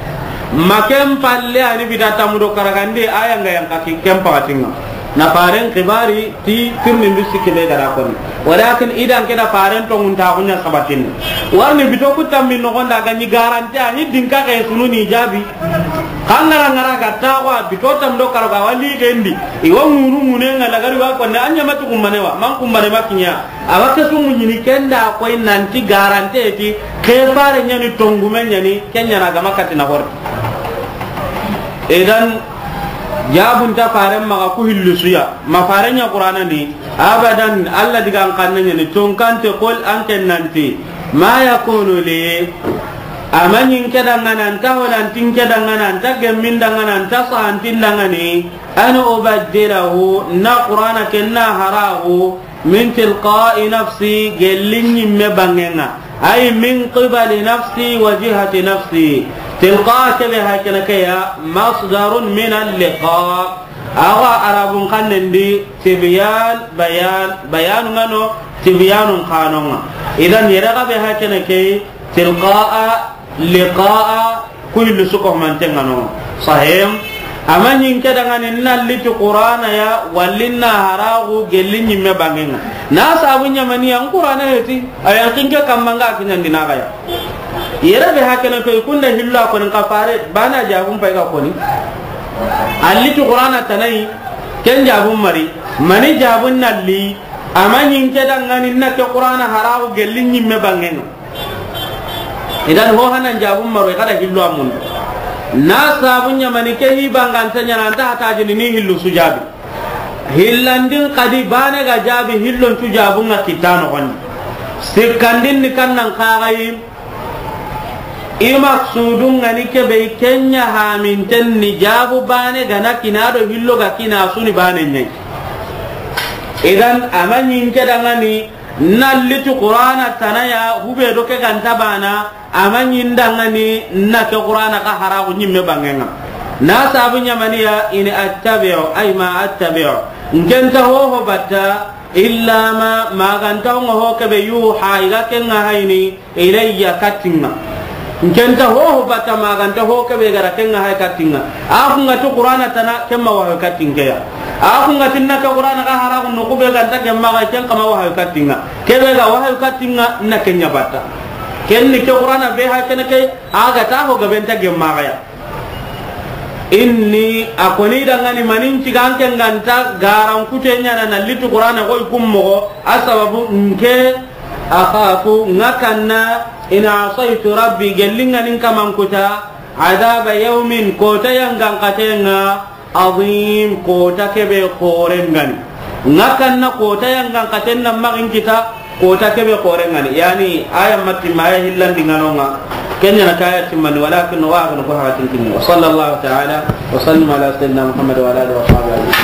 Ma ken palle ani bita tammudo karagandi, aya nga yanka ki ken pakatinga. Na faren kibari, ti tirni ndu sikki be gada koni. Walakin idan keda faren to ngunta kunya sabatin. Warni bito ku tammi noxonda ga ñi garanti ani dinka ke sunu ni jabi. Kangara ngara ga tawa bito tam do karo ga wali gendi. Iwa ngunu ngune nga lagari wa konne anya matu kumbane wa. Man kumbane makinya. Awa ke sumu ñini kenda koy nanti garante ti ke fare ñani tongume ñani kenya na gama katina hor. Idan jabun ta faren maga ku hillu suya. Ma faren ña Qur'ana ni. Abadan, Allah digan kanne ñani, tunkante, qul, an ken nanti, ma yakunu li, amañin ke dangana, nta holantin ke dangana, nta gemmin dangana, nta sahantin dangani, an ubaddilahu, na Qur'ana ken na haragu, min tilqa'i nafsi, gellin ñimme bangenga. أي من قبل نفسي وجهة نفسي. تلقاء ke be hakene ke ya, مصدر من اللقاء. Awa Arabun xannen di tibyan, bayan, bayanun ŋa no, tibyanun xa no ŋa. Idan yere ga be hakene ke, تلقاء، لقاء، ku hillu su ko manten ŋa no. Sahih. Ama ɲi n ke danŋa ni na liti Qur'ana ya, walla na haraxu gelli ɲimme banŋen ŋa. Na sabu ɲa mani ya, n Qur'ana heti, a yan xinke kamma n ga kiɲandi na ga ya. Yere be hakene ko i kunda hillo a koni, n xa fare, bana jabun pay ga koni. A liti Qur'ana tana yi, ken jabun mari, mani jabun na li, ama ɲi n ke danŋa ni na ke Qur'ana haraxu gelli ɲimme banŋen ŋa. Idan ho hanan jabun maro, i ga da hillo a mun. Na sabu ɲa mani ke hi banganta ɲa na, an ta hata jini ni hillu su jabi. Hillandin xadi bane ga jabi, hillon cu jabun ŋa kitta noxon di. Sikkandin ni kannan xa ga yi, i maksudun ŋa ni ke be, ken ɲa haminten ni jabu bane ga na kina do hillo ga kina su ni bane ɲa yi. Idan ama ɲi n ke danŋa ni na liti Qur'ana tana ya, hube do ke ganta bana, ama ɲi n danŋa ni na ke Qur'ana xa haraxu ɲimme banŋen ŋa. Na sabu ɲa mani ya, in attabi'u, ay ma attabi'u. N ke nta hoho batta, illa ma, maganta ho ŋa ho ke be, yuha, i ga ken ŋahayini, ilayya, katta n ŋa. N ke nta hoho batta, maganta ho ke be ga da ken ŋahayi katta n ŋa. A ku ŋa ti Qur'ana tana, ken ma wahayu katta n ke ya. A ku ŋa ti na ke Qur'ana xa haraxu noxu be ganta ken maxa, ken xa ma wahayu katta n ŋa. Ke be ga wahayu katta n ŋa, na ken ɲa batta. Ken ni ke Qur'ana be hakene ke, a ga ta ho gabe nta gemma ga ya. Inni, a koni danŋa ni, mani n ci ga n ke n ga nta garan kute ɲa na na liti Qur'ana ko i kun moxo, a sababu n ke, akhafu, n ga kanna, in asaytu rabbi, gelli n ga ni n kaman kuta, adaba yawmin, kota yangan katen ŋa, azim, kota ke be xoren ŋa ni. N ga kanna kota yangan katen na maxa n kita, kota ke be xoren ŋa ni. Yani, aya matti ma aya hillandi ŋa no ŋa. Ken ɲa na kaya timmani, walakin wa akhna ko hakatin kinni. Wa sallallahu ta'ala wa sallim ala sayyidina Muhammad wa ala alihi wa sahbihi ajma'in.